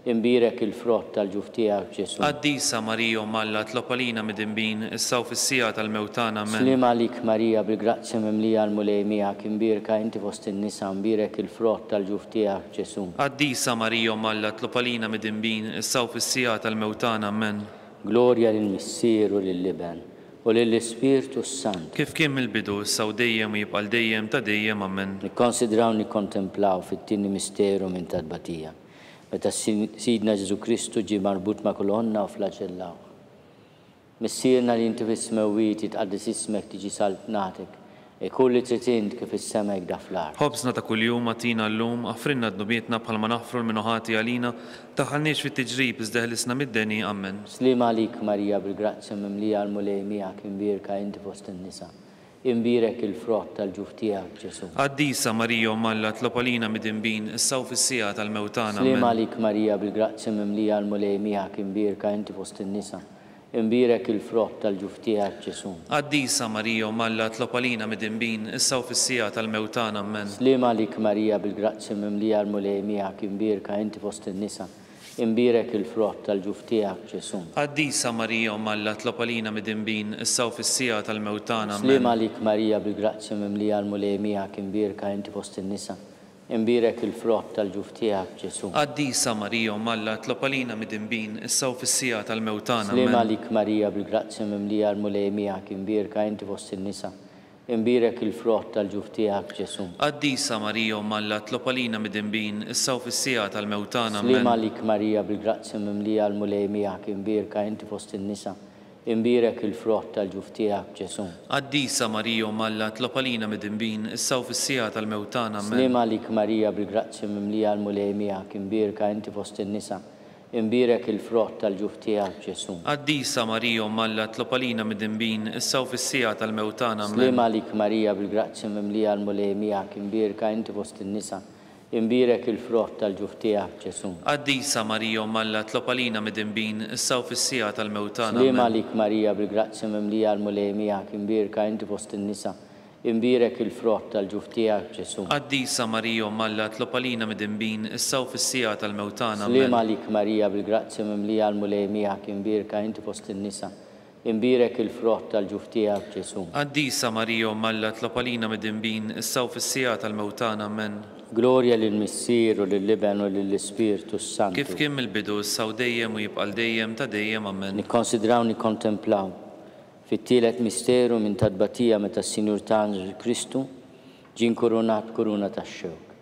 imbierek il-frott tal-ġuf tiegħek, Ġesù. Qaddisa Marija Omm Alla tlob għalina midinbin, issa u fis-siegħa tal-mewt tagħna. Ammen. Sliem għalik Marija bil-grazzja mimlija l-Mulej miegħek, imbierka inti fost in-nisa, imbierek il-frott tal-ġuf tiegħek, Ġesù. Qaddisa Marija Omm Alla tlob għalina midinbin, issa u fis-siegħa tal-mewt tagħna. Ammen. Glorja lill-Missier u lill-Iben u lill-Ispirtu s-Santu. Kif kien mill-bidu, issa u dejjem u jibqa' għal dejjem ta' dejjem. Ammen. Nikkonsidraw nikkontemplaw fit-tieni misteru minn ta' tbatija, meta Sidna Ġesù Kristu ġie marbut ma' kolonna u flaġellawh. Missierna li inti fis-smewwiet, jitqaddes ismek, tiġi saltnatek, Ikun li trid int kif fis-sema hekk da fl-art. Ħobżna ta' kuljum agħtina llum, aħfrilna dnubietna bħalma naħfru 'l min hu ħati għalina, tdaħħalniex fit-tiġrib iżda eħlisna mid-deni. Ammen. Sliem għalik Marija bil-grazzja mimlija l-Mulej miegħek imbierka inti fost in-nisa, imbierek il-frott tal-ġuf tiegħek Ġesù. Qaddisa Marija Omm Alla tlob għalina midinbin, issa u fis-siegħa tal-mewt tagħna. Sliem Ammen. għalik Marija bil-grazzja mimlija l-Mulej miegħek imbierka inti fost in-nisa, Imbierek il-frott tal-ġuf tiegħek, Ġesù. Qaddisa Marija Omm Alla tlob għalina midinbin, issa u fis-siegħa tal-mewt tagħna. Ammen. Sliem għalik Marija bil-grazzja mimlija l-Mulej miegħek, imbierka inti fost in-nisa, imbierek il-frott tal-ġuf tiegħek, Ġesù. Qaddisa Marija Omm Alla tlob għalina midinbin, issa u fis-siegħa tal-mewt tagħna. Sliem Ammen. għalik Marija bil-grazzja mimlija l-Mulej miegħek, imbierka inti fost in-nisa, Imbierek il-frott tal-ġuf tiegħek, Ġesù. Qaddisa Marija Omm Alla tlob għalina midinbin, issa u fis-siegħa tal-mewt tagħna. Sliem Ammen. għalik Marija bil-grazzja mimlija l-Mulej miegħek, imbierka inti fost in-nisa, imbierek il-frott tal-ġuf tiegħek, Ġesù. Qaddisa Marija Omm Alla tlob għalina midinbin, issa u fis-siegħa tal-mewt tagħna. Sliem Ammen. għalik Marija bil-grazzja mimlija l-Mulej miegħek, imbierka inti fost in-nisa, Imbierek il-frott tal-ġuf tiegħek, Ġesù. Qaddisa Marija Omm Alla tlob għalina midinbin, issa u fis-siegħa tal-mewt tagħna. Ammen. Sliem għalik Marija bil-grazzja mimlija l-Mulej miegħek, imbierka inti fost in-nisa, imbierek il-frott tal-ġuf tiegħek, Ġesù. Qaddisa Marija Omm Alla tlob għalina midinbin, issa u fis-siegħa tal-mewt tagħna. Sliem Ammen. għalik Marija bil-grazzja mimlija l-Mulej miegħek, imbierka inti fost in-nisa, imbierek il-frott tal-ġuf tiegħek, Ġesù. Qaddisa Marija Omm Alla tlob għalina midinbin, issa u fis-siegħa tal-mewt tagħna. Sliem Ammen. għalik Marija bil-grazzja mimlija l-Mulej miegħek, imbierka inti fost in-nisa, imbierek il-frott tal-ġuf tiegħek, Ġesù. Qaddisa Marija Omm Alla tlob għalina midinbin, issa u fis-siegħa tal-mewt tagħna. Sliem Ammen. għalik Marija bil-grazzja mimlija l-Mulej miegħek, imbierka inti fost in-nisa, Imbierek il-frott tal-ġuf tiegħek, Ġesù. Qaddisa Marija Omm Alla tlob għalina midinbin, issa u fis-siegħa tal-mewt tagħna. Ammen. Glorja lill-Missier u lill-Iben u lill-Ispirtu s-Santu. Kif kien mill-bidu, issa u dejjem u jibqa' għal dejjem ta' dejjem. Ammen. Nikkonsidraw nikkontemplaw fit-tielet misteru minn ta' tbatija meta s-Sinjur tagħna Ġesù Kristu ġie nkurunat b'kuruna tax-xewk.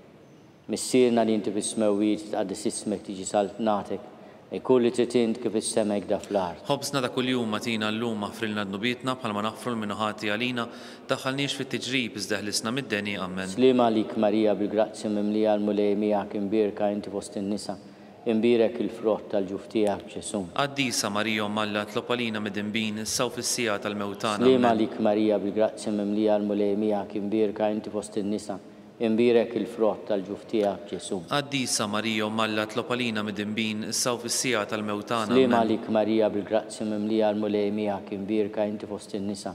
Missierna li inti fis-smewwiet, jitqaddes ismek, tiġi saltnatek, ikun li trid int kif fis-sema hekk da fl-art. Ħobżna ta' kuljum agħtina llum, aħfrilna dnubietna bħalma naħfru 'l min hu ħati għalina, tdaħħalniex fit-tiġrib iżda eħlisna mid-deni. Ammen. Sliem għalik Marija bil-grazzja mimlija l-Mulej miegħek imbierka inti fost in-nisa, imbierek il-frott tal-ġuf tiegħek Ġesù. Qaddisa Marija Omm Alla tlob għalina midinbin issa u fis-siegħa tal-mewt tagħna. Sliem Ammen. għalik Marija bil-grazzja mimlija l-Mulej miegħek imbierka inti fost in-nisa, imbierek il-frott tal-ġuf tiegħek Ġesù. Qaddisa Marija Omm Alla tlob għalina midinbin issa u fis-siegħa tal-mewt tagħna. Sliem Ammen. għalik Marija bil-grazzja mimlija l-Mulej miegħek imbierka inti fost in-nisa,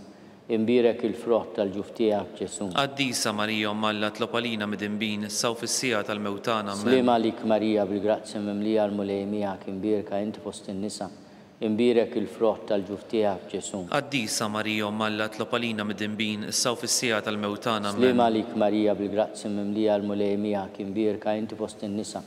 imbierek il-frott tal-ġuf tiegħek Ġesù. Qaddisa Marija Omm Alla tlob għalina midinbin issa u fis-siegħa tal-mewt tagħna. Ammen. Sliem għalik Marija bil-grazzja mimlija l-Mulej miegħek imbierka inti fost in-nisa, imbierek il-frott tal-ġuf tiegħek Ġesù. Qaddisa Marija Omm Alla tlob għalina midinbin issa u fis-siegħa tal-mewt tagħna. Sliem Ammen. għalik Marija bil-grazzja mimlija l-Mulej miegħek imbierka inti fost in-nisa,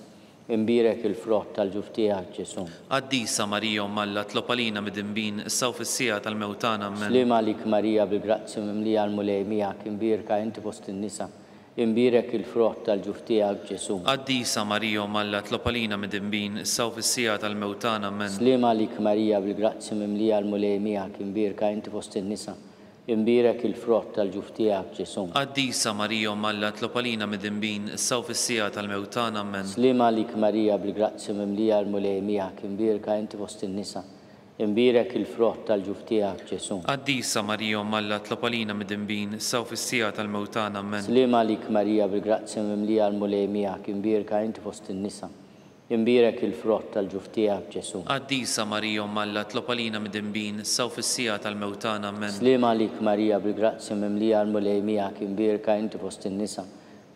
imbierek il-frott tal-ġuf tiegħek Ġesù. Qaddisa Marija Omm Alla tlob għalina midinbin issa u fis-siegħa tal-mewt tagħna. Ammen. Sliem għalik Marija bil-grazzja mimlija l-Mulej miegħek imbierka inti fost in-nisa, imbierek il-frott tal-ġuf tiegħek Ġesù. Qaddisa Marija Omm Alla tlob għalina midinbin issa u fis-siegħa tal-mewt tagħna. Ammen. Sliem għalik Marija bil-grazzja mimlija l-Mulej miegħek imbierka inti fost in-nisa, imbierek il-frott tal-ġuf tiegħek Ġesù. Qaddisa Marija Omm Alla tlob għalina midinbin issa u fis-siegħa tal-mewt tagħna. Ammen. Sliem għalik Marija bil-grazzja mimlija l-Mulej miegħek imbierka inti fost in-nisa, imbierek il-frott tal-ġuf tiegħek Ġesù. Qaddisa Marija Omm Alla tlob għalina midinbin issa u fis-siegħa tal-mewt tagħna. Ammen. Sliem għalik Marija bil-grazzja mimlija l-Mulej miegħek imbierka inti fost in-nisa, imbierek il-frott tal-ġuf tiegħek Ġesù. Qaddisa Marija Omm Alla tlob għalina midinbin issa u fis-siegħa tal-mewt tagħna. Ammen. Sliem għalik Marija bil-grazzja mimlija l-Mulej miegħek imbierka inti fost in-nisa,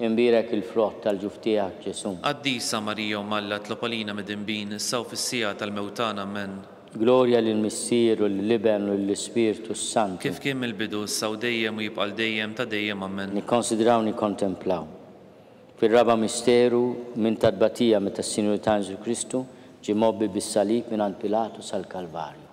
imbierek il-frott tal-ġuf tiegħek Ġesù. Qaddisa Marija Omm Alla tlob għalina midinbin issa u fis-siegħa tal-mewt tagħna. Ammen. Glorja lill-Missier u lill-Iben u lill-Ispirtu s-Santu. Kif kien mill-bidu issa u dejjem u jibqa' għal dejjem ta' dejjem. Ammen. Nikkonsidraw nikkontemplaw. Fir-raba' misteru minn ta' tbatija meta s-Sinjur tagħna Ġesù Kristu ġie mgħobbi bis-salib mingħand Pilatu sal-Kalvarju.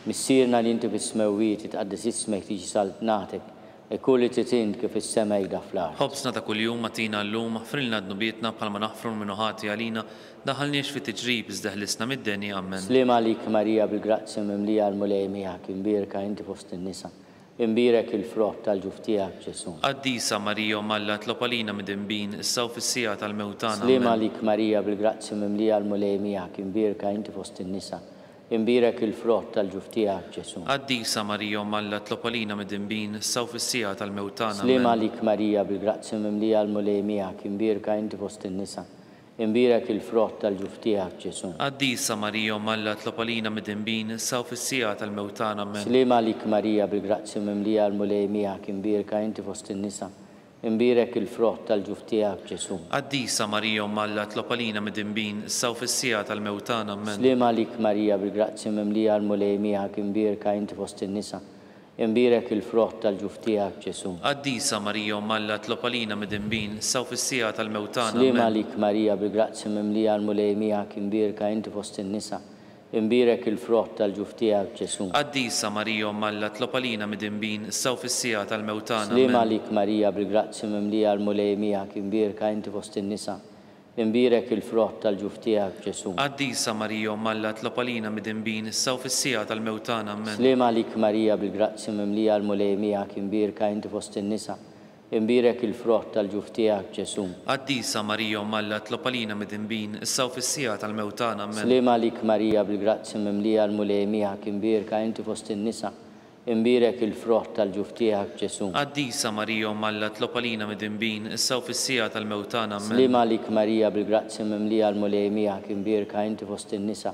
Missierna li inti fis-smewwiet jitqaddes ismek tiġi saltnatek, ikun li trid int kif fis-sema hekk fl-art. Ħobżna ta' kuljum agħtina llum, aħfrilna dnubietna bħalma naħfru 'l min hu ħati għalina, daħħalniex fit-tiġrib iżda eħlisna mid-deni. Ammen. Sliem għalik Marija bil-grazzja mimlija l-Mulej miegħek imbierka inti fost in-nisa, imbierek il-frott tal-ġuf tiegħek Ġesù. Qaddisa Marija Omm Alla tlob għalina midinbin issa u fis-siegħa tal-mewt tagħna. Sliem Ammen. għalik Marija bil-grazzja mimlija l-Mulej miegħek imbierka inti fost in-nisa, imbierek il-frott tal-ġuf tiegħek Ġesù. Qaddisa Marija Omm Alla tlob għalina midinbin issa u fis-siegħa tal-mewt tagħna. Sliem Ammen. għalik Marija bil-grazzja mimlija l-Mulej miegħek imbierka inti fost in-nisa, imbierek il-frott tal-ġuf tiegħek Ġesù. Qaddisa Marija Omm Alla tlob għalina midinbin issa u fis-siegħa tal-mewt tagħna. Ammen. Sliem għalik Marija bil-grazzja mimlija l-Mulej miegħek imbierka inti fost in-nisa, imbierek il-frott tal-ġuf tiegħek Ġesù. Qaddisa Marija Omm Alla tlob għalina midinbin issa u fis-siegħa tal-mewt tagħna. Ammen. Sliem għalik Marija bil-grazzja mimlija l-Mulej miegħek imbierka inti fost in-nisa, imbierek il-frott tal-ġuf tiegħek Ġesù. Qaddisa Marija Omm Alla tlob għalina midinbin issa u fis-siegħa tal-mewt tagħna. Sliem Ammen. għalik Marija bil-grazzja mimlija l-Mulej miegħek imbierka inti fost in-nisa, imbierek il-frott tal-ġuf tiegħek Ġesù. Qaddisa Marija Omm Alla tlob għalina midinbin issa u fis-siegħa tal-mewt tagħna. Sliem Ammen. għalik Marija bil-grazzja mimlija l-Mulej miegħek imbierka inti fost in-nisa, imbierek il-frott tal-ġuf tiegħek Ġesù. Qaddisa Marija Omm Alla tlob għalina midinbin issa u fis-siegħa tal-mewt tagħna. Ammen. Sliem għalik Marija bil-grazzja mimlija l-Mulej miegħek imbierka inti fost in-nisa, imbierek il-frott tal-ġuf tiegħek Ġesù. Qaddisa Marija Omm Alla tlob għalina midinbin issa u fis-siegħa tal-mewt tagħna. Ammen. Sliem għalik Marija bil-grazzja mimlija l-Mulej miegħek imbierka inti fost in-nisa, imbierek il-frott tal-ġuf tiegħek Ġesù. Qaddisa Marija Omm Alla tlob għalina midinbin issa u fis-siegħa tal-mewt tagħna. Ammen. Sliem għalik Marija bil-grazzja mimlija l-Mulej miegħek imbierka inti fost in-nisa,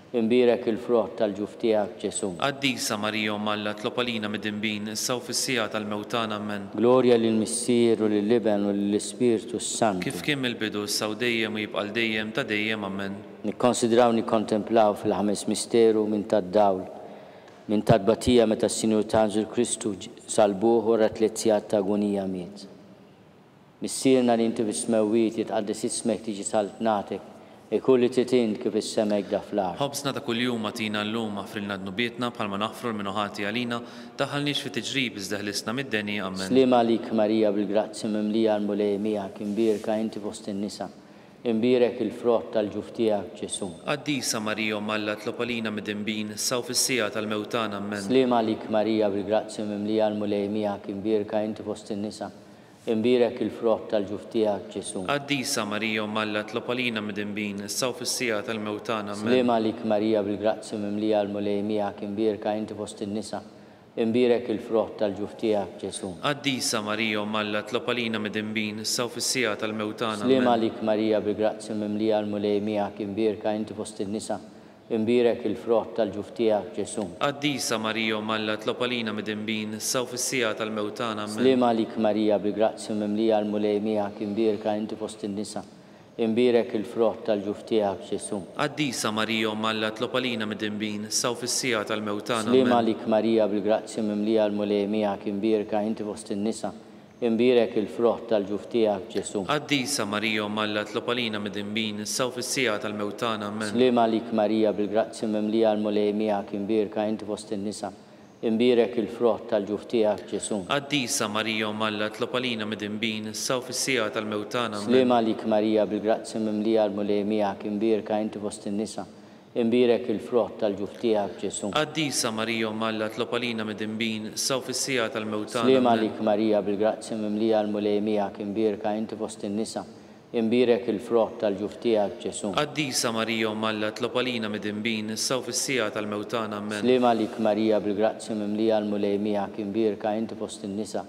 imbierek il-frott tal-ġuf tiegħek Ġesù. Qaddisa Marija Omm Alla tlob għalina midinbin issa u fis-siegħa tal-mewt tagħna. Ammen. Glorja lill-Missier u lill-Iben u lill-Ispirtu s-Santu. Kif kien mill-bidu issa u dejjem u jibqa' għal dejjem ta' dejjem. Ammen. Nikkonsidraw nikkontemplaw fil-ħames misteru minn tad-dawl. Minn ta' tbatija meta s-Sinjur tagħna Ġesù Kristu salbuh wara tliet sigħat ta' agunija miet. Missierna li inti fis-smewwiet, jitqaddes ismek, tiġi saltnatek, ikun li trid int kif fis-sema hekk da fl-art. Ħobżna ta' kuljum agħtina llum, aħfrilna dnubietna bħalma naħfru 'l min hu ħati għalina, daħħalniex fi tiġrib iżda ħlisna mid-deni. Ammen. Sliem għalik Marija bil-grazzja mimlija l-Mulej miegħek, imbierka inti fost in-nisa, Imbierek il-frott tal-ġuf tiegħek, Ġesù. Qaddisa Marija Omm Alla tlob għalina midinbin, issa u fis-siegħa tal-mewt tagħna. Ammen. Sliem għalik Marija bil-grazzja mimlija l-Mulej miegħek, imbierka inti fost in-nisa, imbierek il-frott tal-ġuf tiegħek, Ġesù. Qaddisa Marija Omm Alla tlob għalina midinbin, issa u fis-siegħa tal-mewt tagħna. Ammen. Sliem għalik Marija bil-grazzja mimlija l-Mulej miegħek, imbierka inti fost in-nisa, Imbierek il-frott tal-ġuf tiegħek, Ġesù. Qaddisa Marija Omm Alla tlob għalina midinbin, issa u fis-siegħa tal-mewt tagħna. Sliem Ammen. għalik Marija bil-grazzja mimlija l-Mulej miegħek imbierka inti fost in-nisa, imbierek il-frott tal-ġuf tiegħek, Ġesù. Qaddisa Marija Omm Alla tlob għalina midinbin, issa u fis-siegħa tal-mewt tagħna. Ammen. Sliem għalik Marija bil-grazzja mimlija l-Mulej miegħek imbierka inti fost in-nisa, Imbierek il-frott tal-ġuf tiegħek, Ġesù. Qaddisa Marija Omm Alla tlob għalina midinbin, issa u fis-siegħa tal-mewt tagħna. Sliem Ammen. għalik Marija bil-grazzja mimlija l-Mulej miegħek imbierka inti fost in-nisa, imbierek il-frott tal-ġuf tiegħek, Ġesù. Qaddisa Marija Omm Alla tlob għalina midinbin, issa u fis-siegħa tal-mewt tagħna. Ammen. Sliem għalik Marija bil-grazzja mimlija l-Mulej miegħek imbierka inti fost in-nisa, Imbierek il-frott tal-ġuf tiegħek, Ġesù. Qaddisa Marija Omm Alla tlob għalina midinbin, issa u fis-siegħa tal-mewt tagħna. Ammen. Sliem għalik Marija bil-grazzja mimlija l-Mulej miegħek, imbierka inti fost in-nisa, imbierek il-frott tal-ġuf tiegħek, Ġesù. Qaddisa Marija Omm Alla tlob għalina midinbin, issa u fis-siegħa tal-mewt tagħna. Sliem Ammen. għalik Marija bil-grazzja mimlija l-Mulej miegħek, imbierka inti fost in-nisa, Imbierek il-frott tal-ġuf tiegħek, Ġesù. Qaddisa Marija Omm Alla tlob għalina midinbin, issa u fis-siegħa tal-mewt tagħna. Ammen. Sliem għalik Marija bil-grazzja mimlija l-Mulej miegħek, imbierka inti fost in-nisa,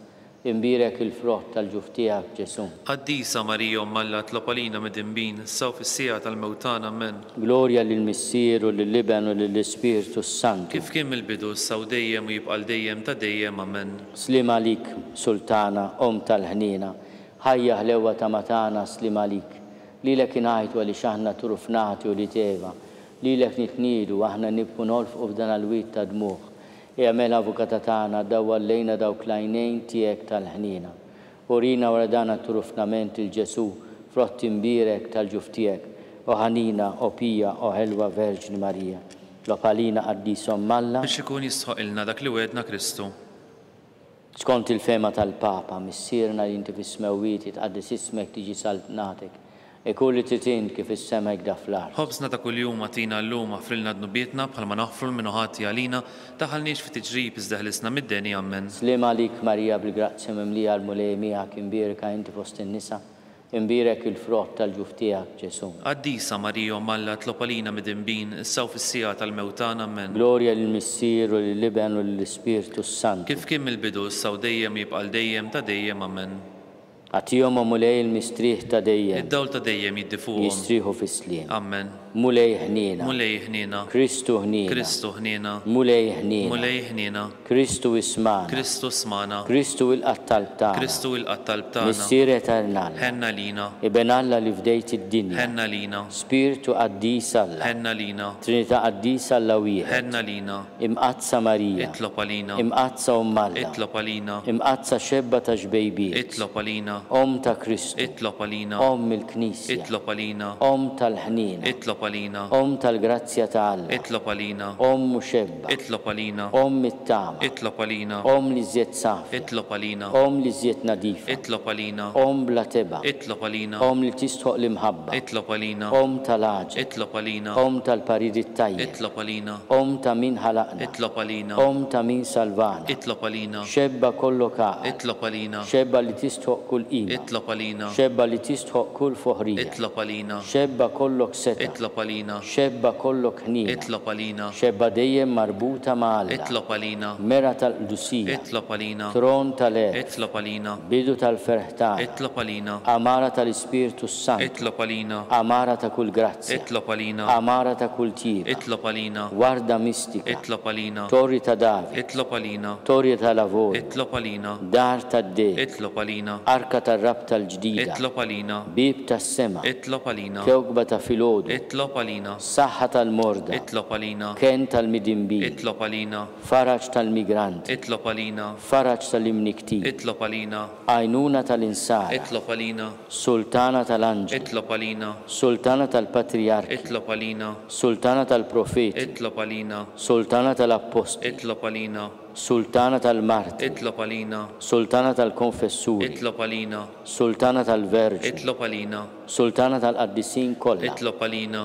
imbierek il-frott tal-ġuf tiegħek, Ġesù. Qaddisa Marija Omm Alla tlob għalina midinbin, issa u fis-siegħa tal-mewt tagħna. Ammen. Glorja lill-Missier u lill-Iben u lill-Ispirtu s-Santu. Kif kien mill-bidu, issa u dejjem u jibqa' għal dejjem ta' dejjem. Ammen. Sliem għalik Sultana, Omm tal-ħniena, Ħajja ħlewwa tama tagħna sliem għalik. Lilek ingħajtu għaliex aħna turufnati ulied Eva. Lilek nitniedu, aħna nibku nolfqu f'dan l-wied ta' dmugħ. Ejja mela Avukata tagħna dawwar lejna dawk l-għajnejn tiegħek tal-ħniena. Urina wara dan għat-turufnament lil Ġesù, frott imbierek tal-ġuf tiegħek, o ħanina, o pija, o ħelwa Verġni Marija. Tlob għalina Qaddis Omm Alla. Biex ikun jistħoqqilna dak li wegħedna Kristu. Skont il-fehma tal-Papa, Missierna li inti fis-smewwiet, jitqaddes ismek, tiġi saltnatek. Ikun li trid int kif fis-sema hekk da fl-art. Ħobżna ta' kuljum agħtina llum, aħfrilna dnubietna bħalma naħfru 'l min hu ħati għalina, daħħalniex fi tiġrib iżda ħlisna mid-deni. Ammen. Sliem għalik Marija bil-grazzja mimlija l-Mulej miegħek, imbierka inti fost in-nisa, Imbierek il-frott tal-ġuf tiegħek, Ġesù. Qaddisa Marija Omm Alla tlob għalina midinbin, issa u fis-siegħa tal-mewt tagħna. Ammen. Glorja lill-Missier u lill-Iben u lill-Ispirtu s-Santu. Kif kien mill-bidu, issa u dejjem u jibqa' għal dejjem ta' dejjem. Ammen. Agħtihom, o Mulej, il-mistrieħ ta' dejjem. Id-dawl ta' dejjem jiddi fuqhom. Jistrieħu fis-sliem. Ammen. Mulej ħniena. Mulej ħniena. Kristu ħniena. Kristu ħniena. Mulej ħniena. Mulej ħniena. Kristu ismagħna. Kristu smagħna. Kristu ilqa' t-talb tagħna. Kristu ilqa' t-talb tagħna. Missier etern Alla. Ħenn għalina. Iben Alla li fdejt id-dinja. Ħenn għalina. Spirtu qaddis Alla. Ħenn għalina. Trinità qaddisa Alla wieħed. Ħenn għalina. Imqaddsa Marija. Itlob għalina. Imqaddsa Omm Alla. Itlob għalina. Imqaddsa Xebba ta' xbejbiet. Itlob għalina. Omm ta' Kristu. Itlob għalina. Omm il-Knisja. Itlob għalina. Omm tal-ħniena. Itlob għalina. Omm tal-grazzja ta' Alla. Itlob għalina. Omm u xebba. Itlob għalina. Omm it-tama. Itlob għalina. Omm l-iżjed safja. Itlob għalina. Omm l-iżjed nadifa. Itlob għalina. Omm bla tebgħa. Itlob għalina. Omm li tistħoq l-imħabba. Itlob għalina. Omm tal-għaġeb. Itlob għalina. Omm tal-parir it-tajjeb. Itlob għalina. Omm ta' min ħalaqna. Itlob għalina. Omm ta' min salvana. Itlob għalina. Xebba kollok għaqal. Itlob għalina. Xebba li tistħoq kull qima. Itlob għalina. Xebba li tistħoq kull foħrija. Itlob għalina. Xebba kollok setgħa. Itlob għalina. Xebba kollok ħniena. Itlob għalina. Xebba dejjem marbuta ma' Alla. Itlob għalina. Mera tal-qdusija. Itlob għalina. Tron tal-għerf. Itlob għalina. Bidu tal-ferħ tagħna. Itlob għalina. Għamara tal-Ispirtu s-Santu. Itlob għalina. Għamara ta' kull grazzja. Itlob għalina. Għamara ta' kull tjieba. Itlob għalina. Warda mistika. Itlob għalina. Torri ta' David. Itlob għalina. Torri tal-avorju. Itlob għalina. Dar tad-deheb. Itlob għalina. Arka tar-rabta l-ġdida. Itlob għalina. Bieb tas-sema. Itlob għalina. Kewkba ta' filgħodu. Itlob. Itlob għalina. Saħħa tal-morda. Itlob għalina. Kenn tal-midinbin. Itlob għalina. Faraġ tal-migranti. Itlob għalina. Faraġ tal-imnikktin. Itlob għalina. Għajnuna tal-insara. Itlob għalina. Sultana tal-anġli. Itlob għalina. Sultana tal-patrijarki. Itlob għalina. Sultana tal-profeti. Itlob għalina. Sultana tal-appostli. Itlob għalina. Sultana tal-martri. Itlob għalina. Sultana tal-konfessuri. Itlob għalina. Sultana tal-verġni. Itlob għalina. Sultana tal-qaddisin kollha. Itlob għalina.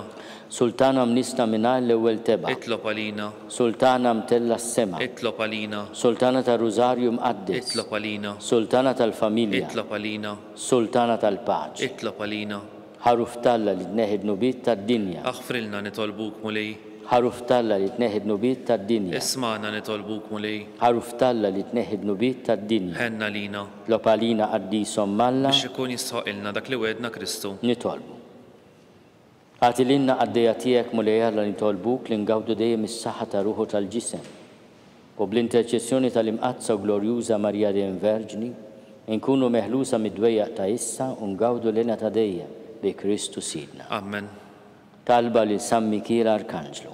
Sultana mnissla mingħajr l-ewwel tebgħa. Itlob għalina. Sultana mtellgħa s-sema. Itlob għalina. Sultana tar-Rużarju Mqaddes. Itlob għalina. Sultana tal-familja. Itlob għalina. Sultana tal-paċi. Itlob għalina. Ħaruf t'Alla li tneħħi d-dnubiet tad-dinja. Aħfrilna nitolbuk, Mulej. Ħaruf t'Alla li tneħħi d-dnubiet tad-dinja. Ismagħna nitolbuk, Mulej. Ħaruf t'Alla li tneħħi d-dnubiet tad-dinja. Ħenn għalina. Itlob għalina Qaddis Omm Alla. Biex ikun jistħoqqilna dak li wegħedna Kristu. Nitolbu. Agħti lilna qaddejja tiegħek, Mulej Alla nitolbuk li ngawdu dejjem is-saħħa tar-ruħ u tal-ġisem. U bl-interċessjoni tal-Imqaddsa u Glorjuża Marija dejjem Verġni, inkunu meħlusa mid-dwejjaq ta' issa u ngawdu l-hena ta' dejjem, bi Kristu Sidna. Amen. Talba lil San Mikiel Arkanġlu.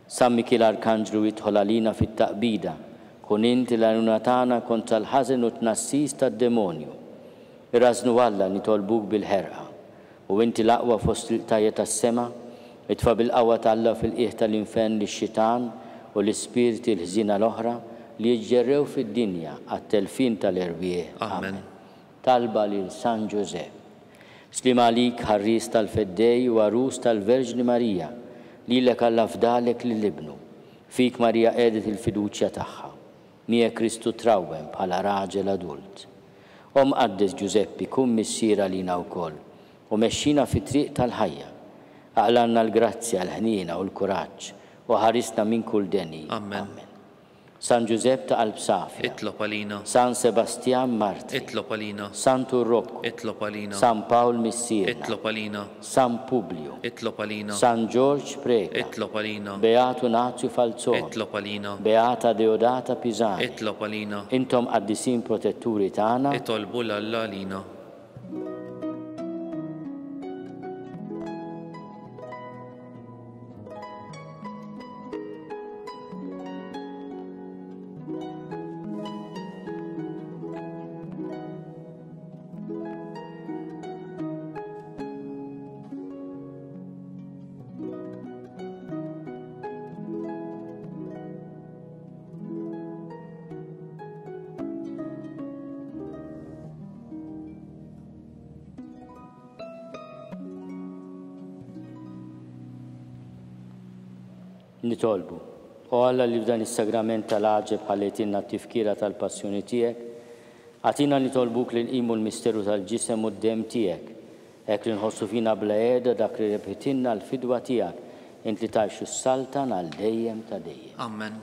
San Mikiel Arkanġlu idħol għalina fit-taqbida, kun int il-għajnuna tagħna kontra l-ħażen u t-tnassis tad-demonju. Irażżnu Alla nitolbuk bil-ħerqa. U inti l-aqwa fost il-qtajja' tas-sema, itfa' bil-qawwa t'Alla fil-qiegħ tal-infern lix-xitan u l-ispirti l-ħżiena l-oħra li jiġġerrew fid-dinja għat-telfien tal-erwieħ. Amen. Talba lil San Ġużepp. Sliem għalik, ħarries tal-Feddej u għarus tal-Verġni Marija, lilek Alla fdalek lil Ibnu. Fik Marija qiegħdet il-fiduċja tagħha. Miegħek Kristu trawwem bħala raġel adult. O Mqaddes Ġużeppi, kun missier għalina wkoll, u mexxina fit-triq tal-ħajja. Aqlgħalna l-grazzja, l-ħniena u l-kuraġġ, u ħarisna minn kull deni. Amen. Amen. San Ġużepp ta' qalb safja. Itlob għalina. San Sebastjan martri. Itlob għalina. Santu Rokku. Itlob għalina. San Pawl Missierna. Itlob għalina. San Publju. Itlob għalina. San Ġorġ Preca. Itlob għalina. Beatu Nazju Falzoni. Itlob għalina. Beata Deodata Pisani. Itlob għalina. Intom qaddisin protetturi tagħna. Itolbu 'l Alla għalina. Nitolbu. O Alla li f'dan is-sagrament tal-għaġeb ħallejtilna t-tifkira tal-passjoni tiegħek, agħtina nitolbuk li nqimu l-misteru tal-ġisem u d-demm tiegħek, hekk li nħossu fina bla qiegħda dak li rebħitilna l-fidwa tiegħek, int li tgħix u ssaltan għal dejjem ta' dejjem. Amen.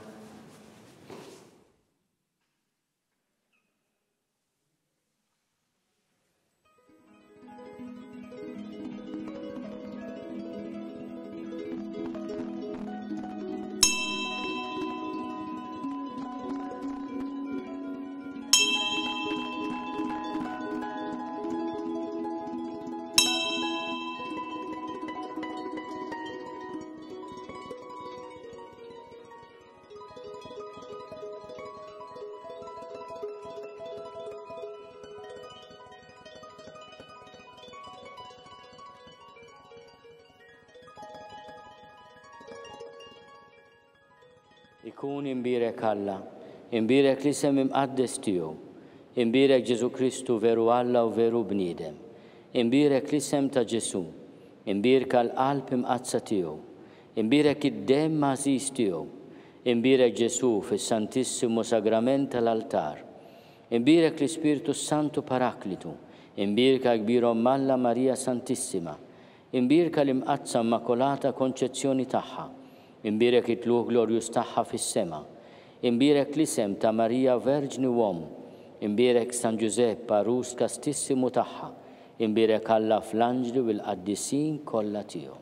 Ikun imbierek Alla, imbierek l-isem imqaddes tiegħu, imbierek Ġesù Kristu veru Alla u veru bniedem, imbierek l-isem ta' Ġesù, imbierka l-qalb imqaddsa tiegħu, imbierek id-demm għażiż tiegħu, imbierek Ġesù fis-Santissimu Sagrament tal-altar, imbierek l-Ispirtu s-Santu Paraklitu, imbierka l-Kbir Omm Alla Marija Santissima, Imbierka l-Imqaddsa Immakolata Konċezzjoni tagħha, imbierek it-tlugħ glorjuż tagħha fis-sema, imbierek l-isem ta' Marija Verġni u Omm, imbierek San Ġużepp għarus kastissimu tagħha, imbierek Alla fl-anġli u l-qaddisin kollha tiegħu.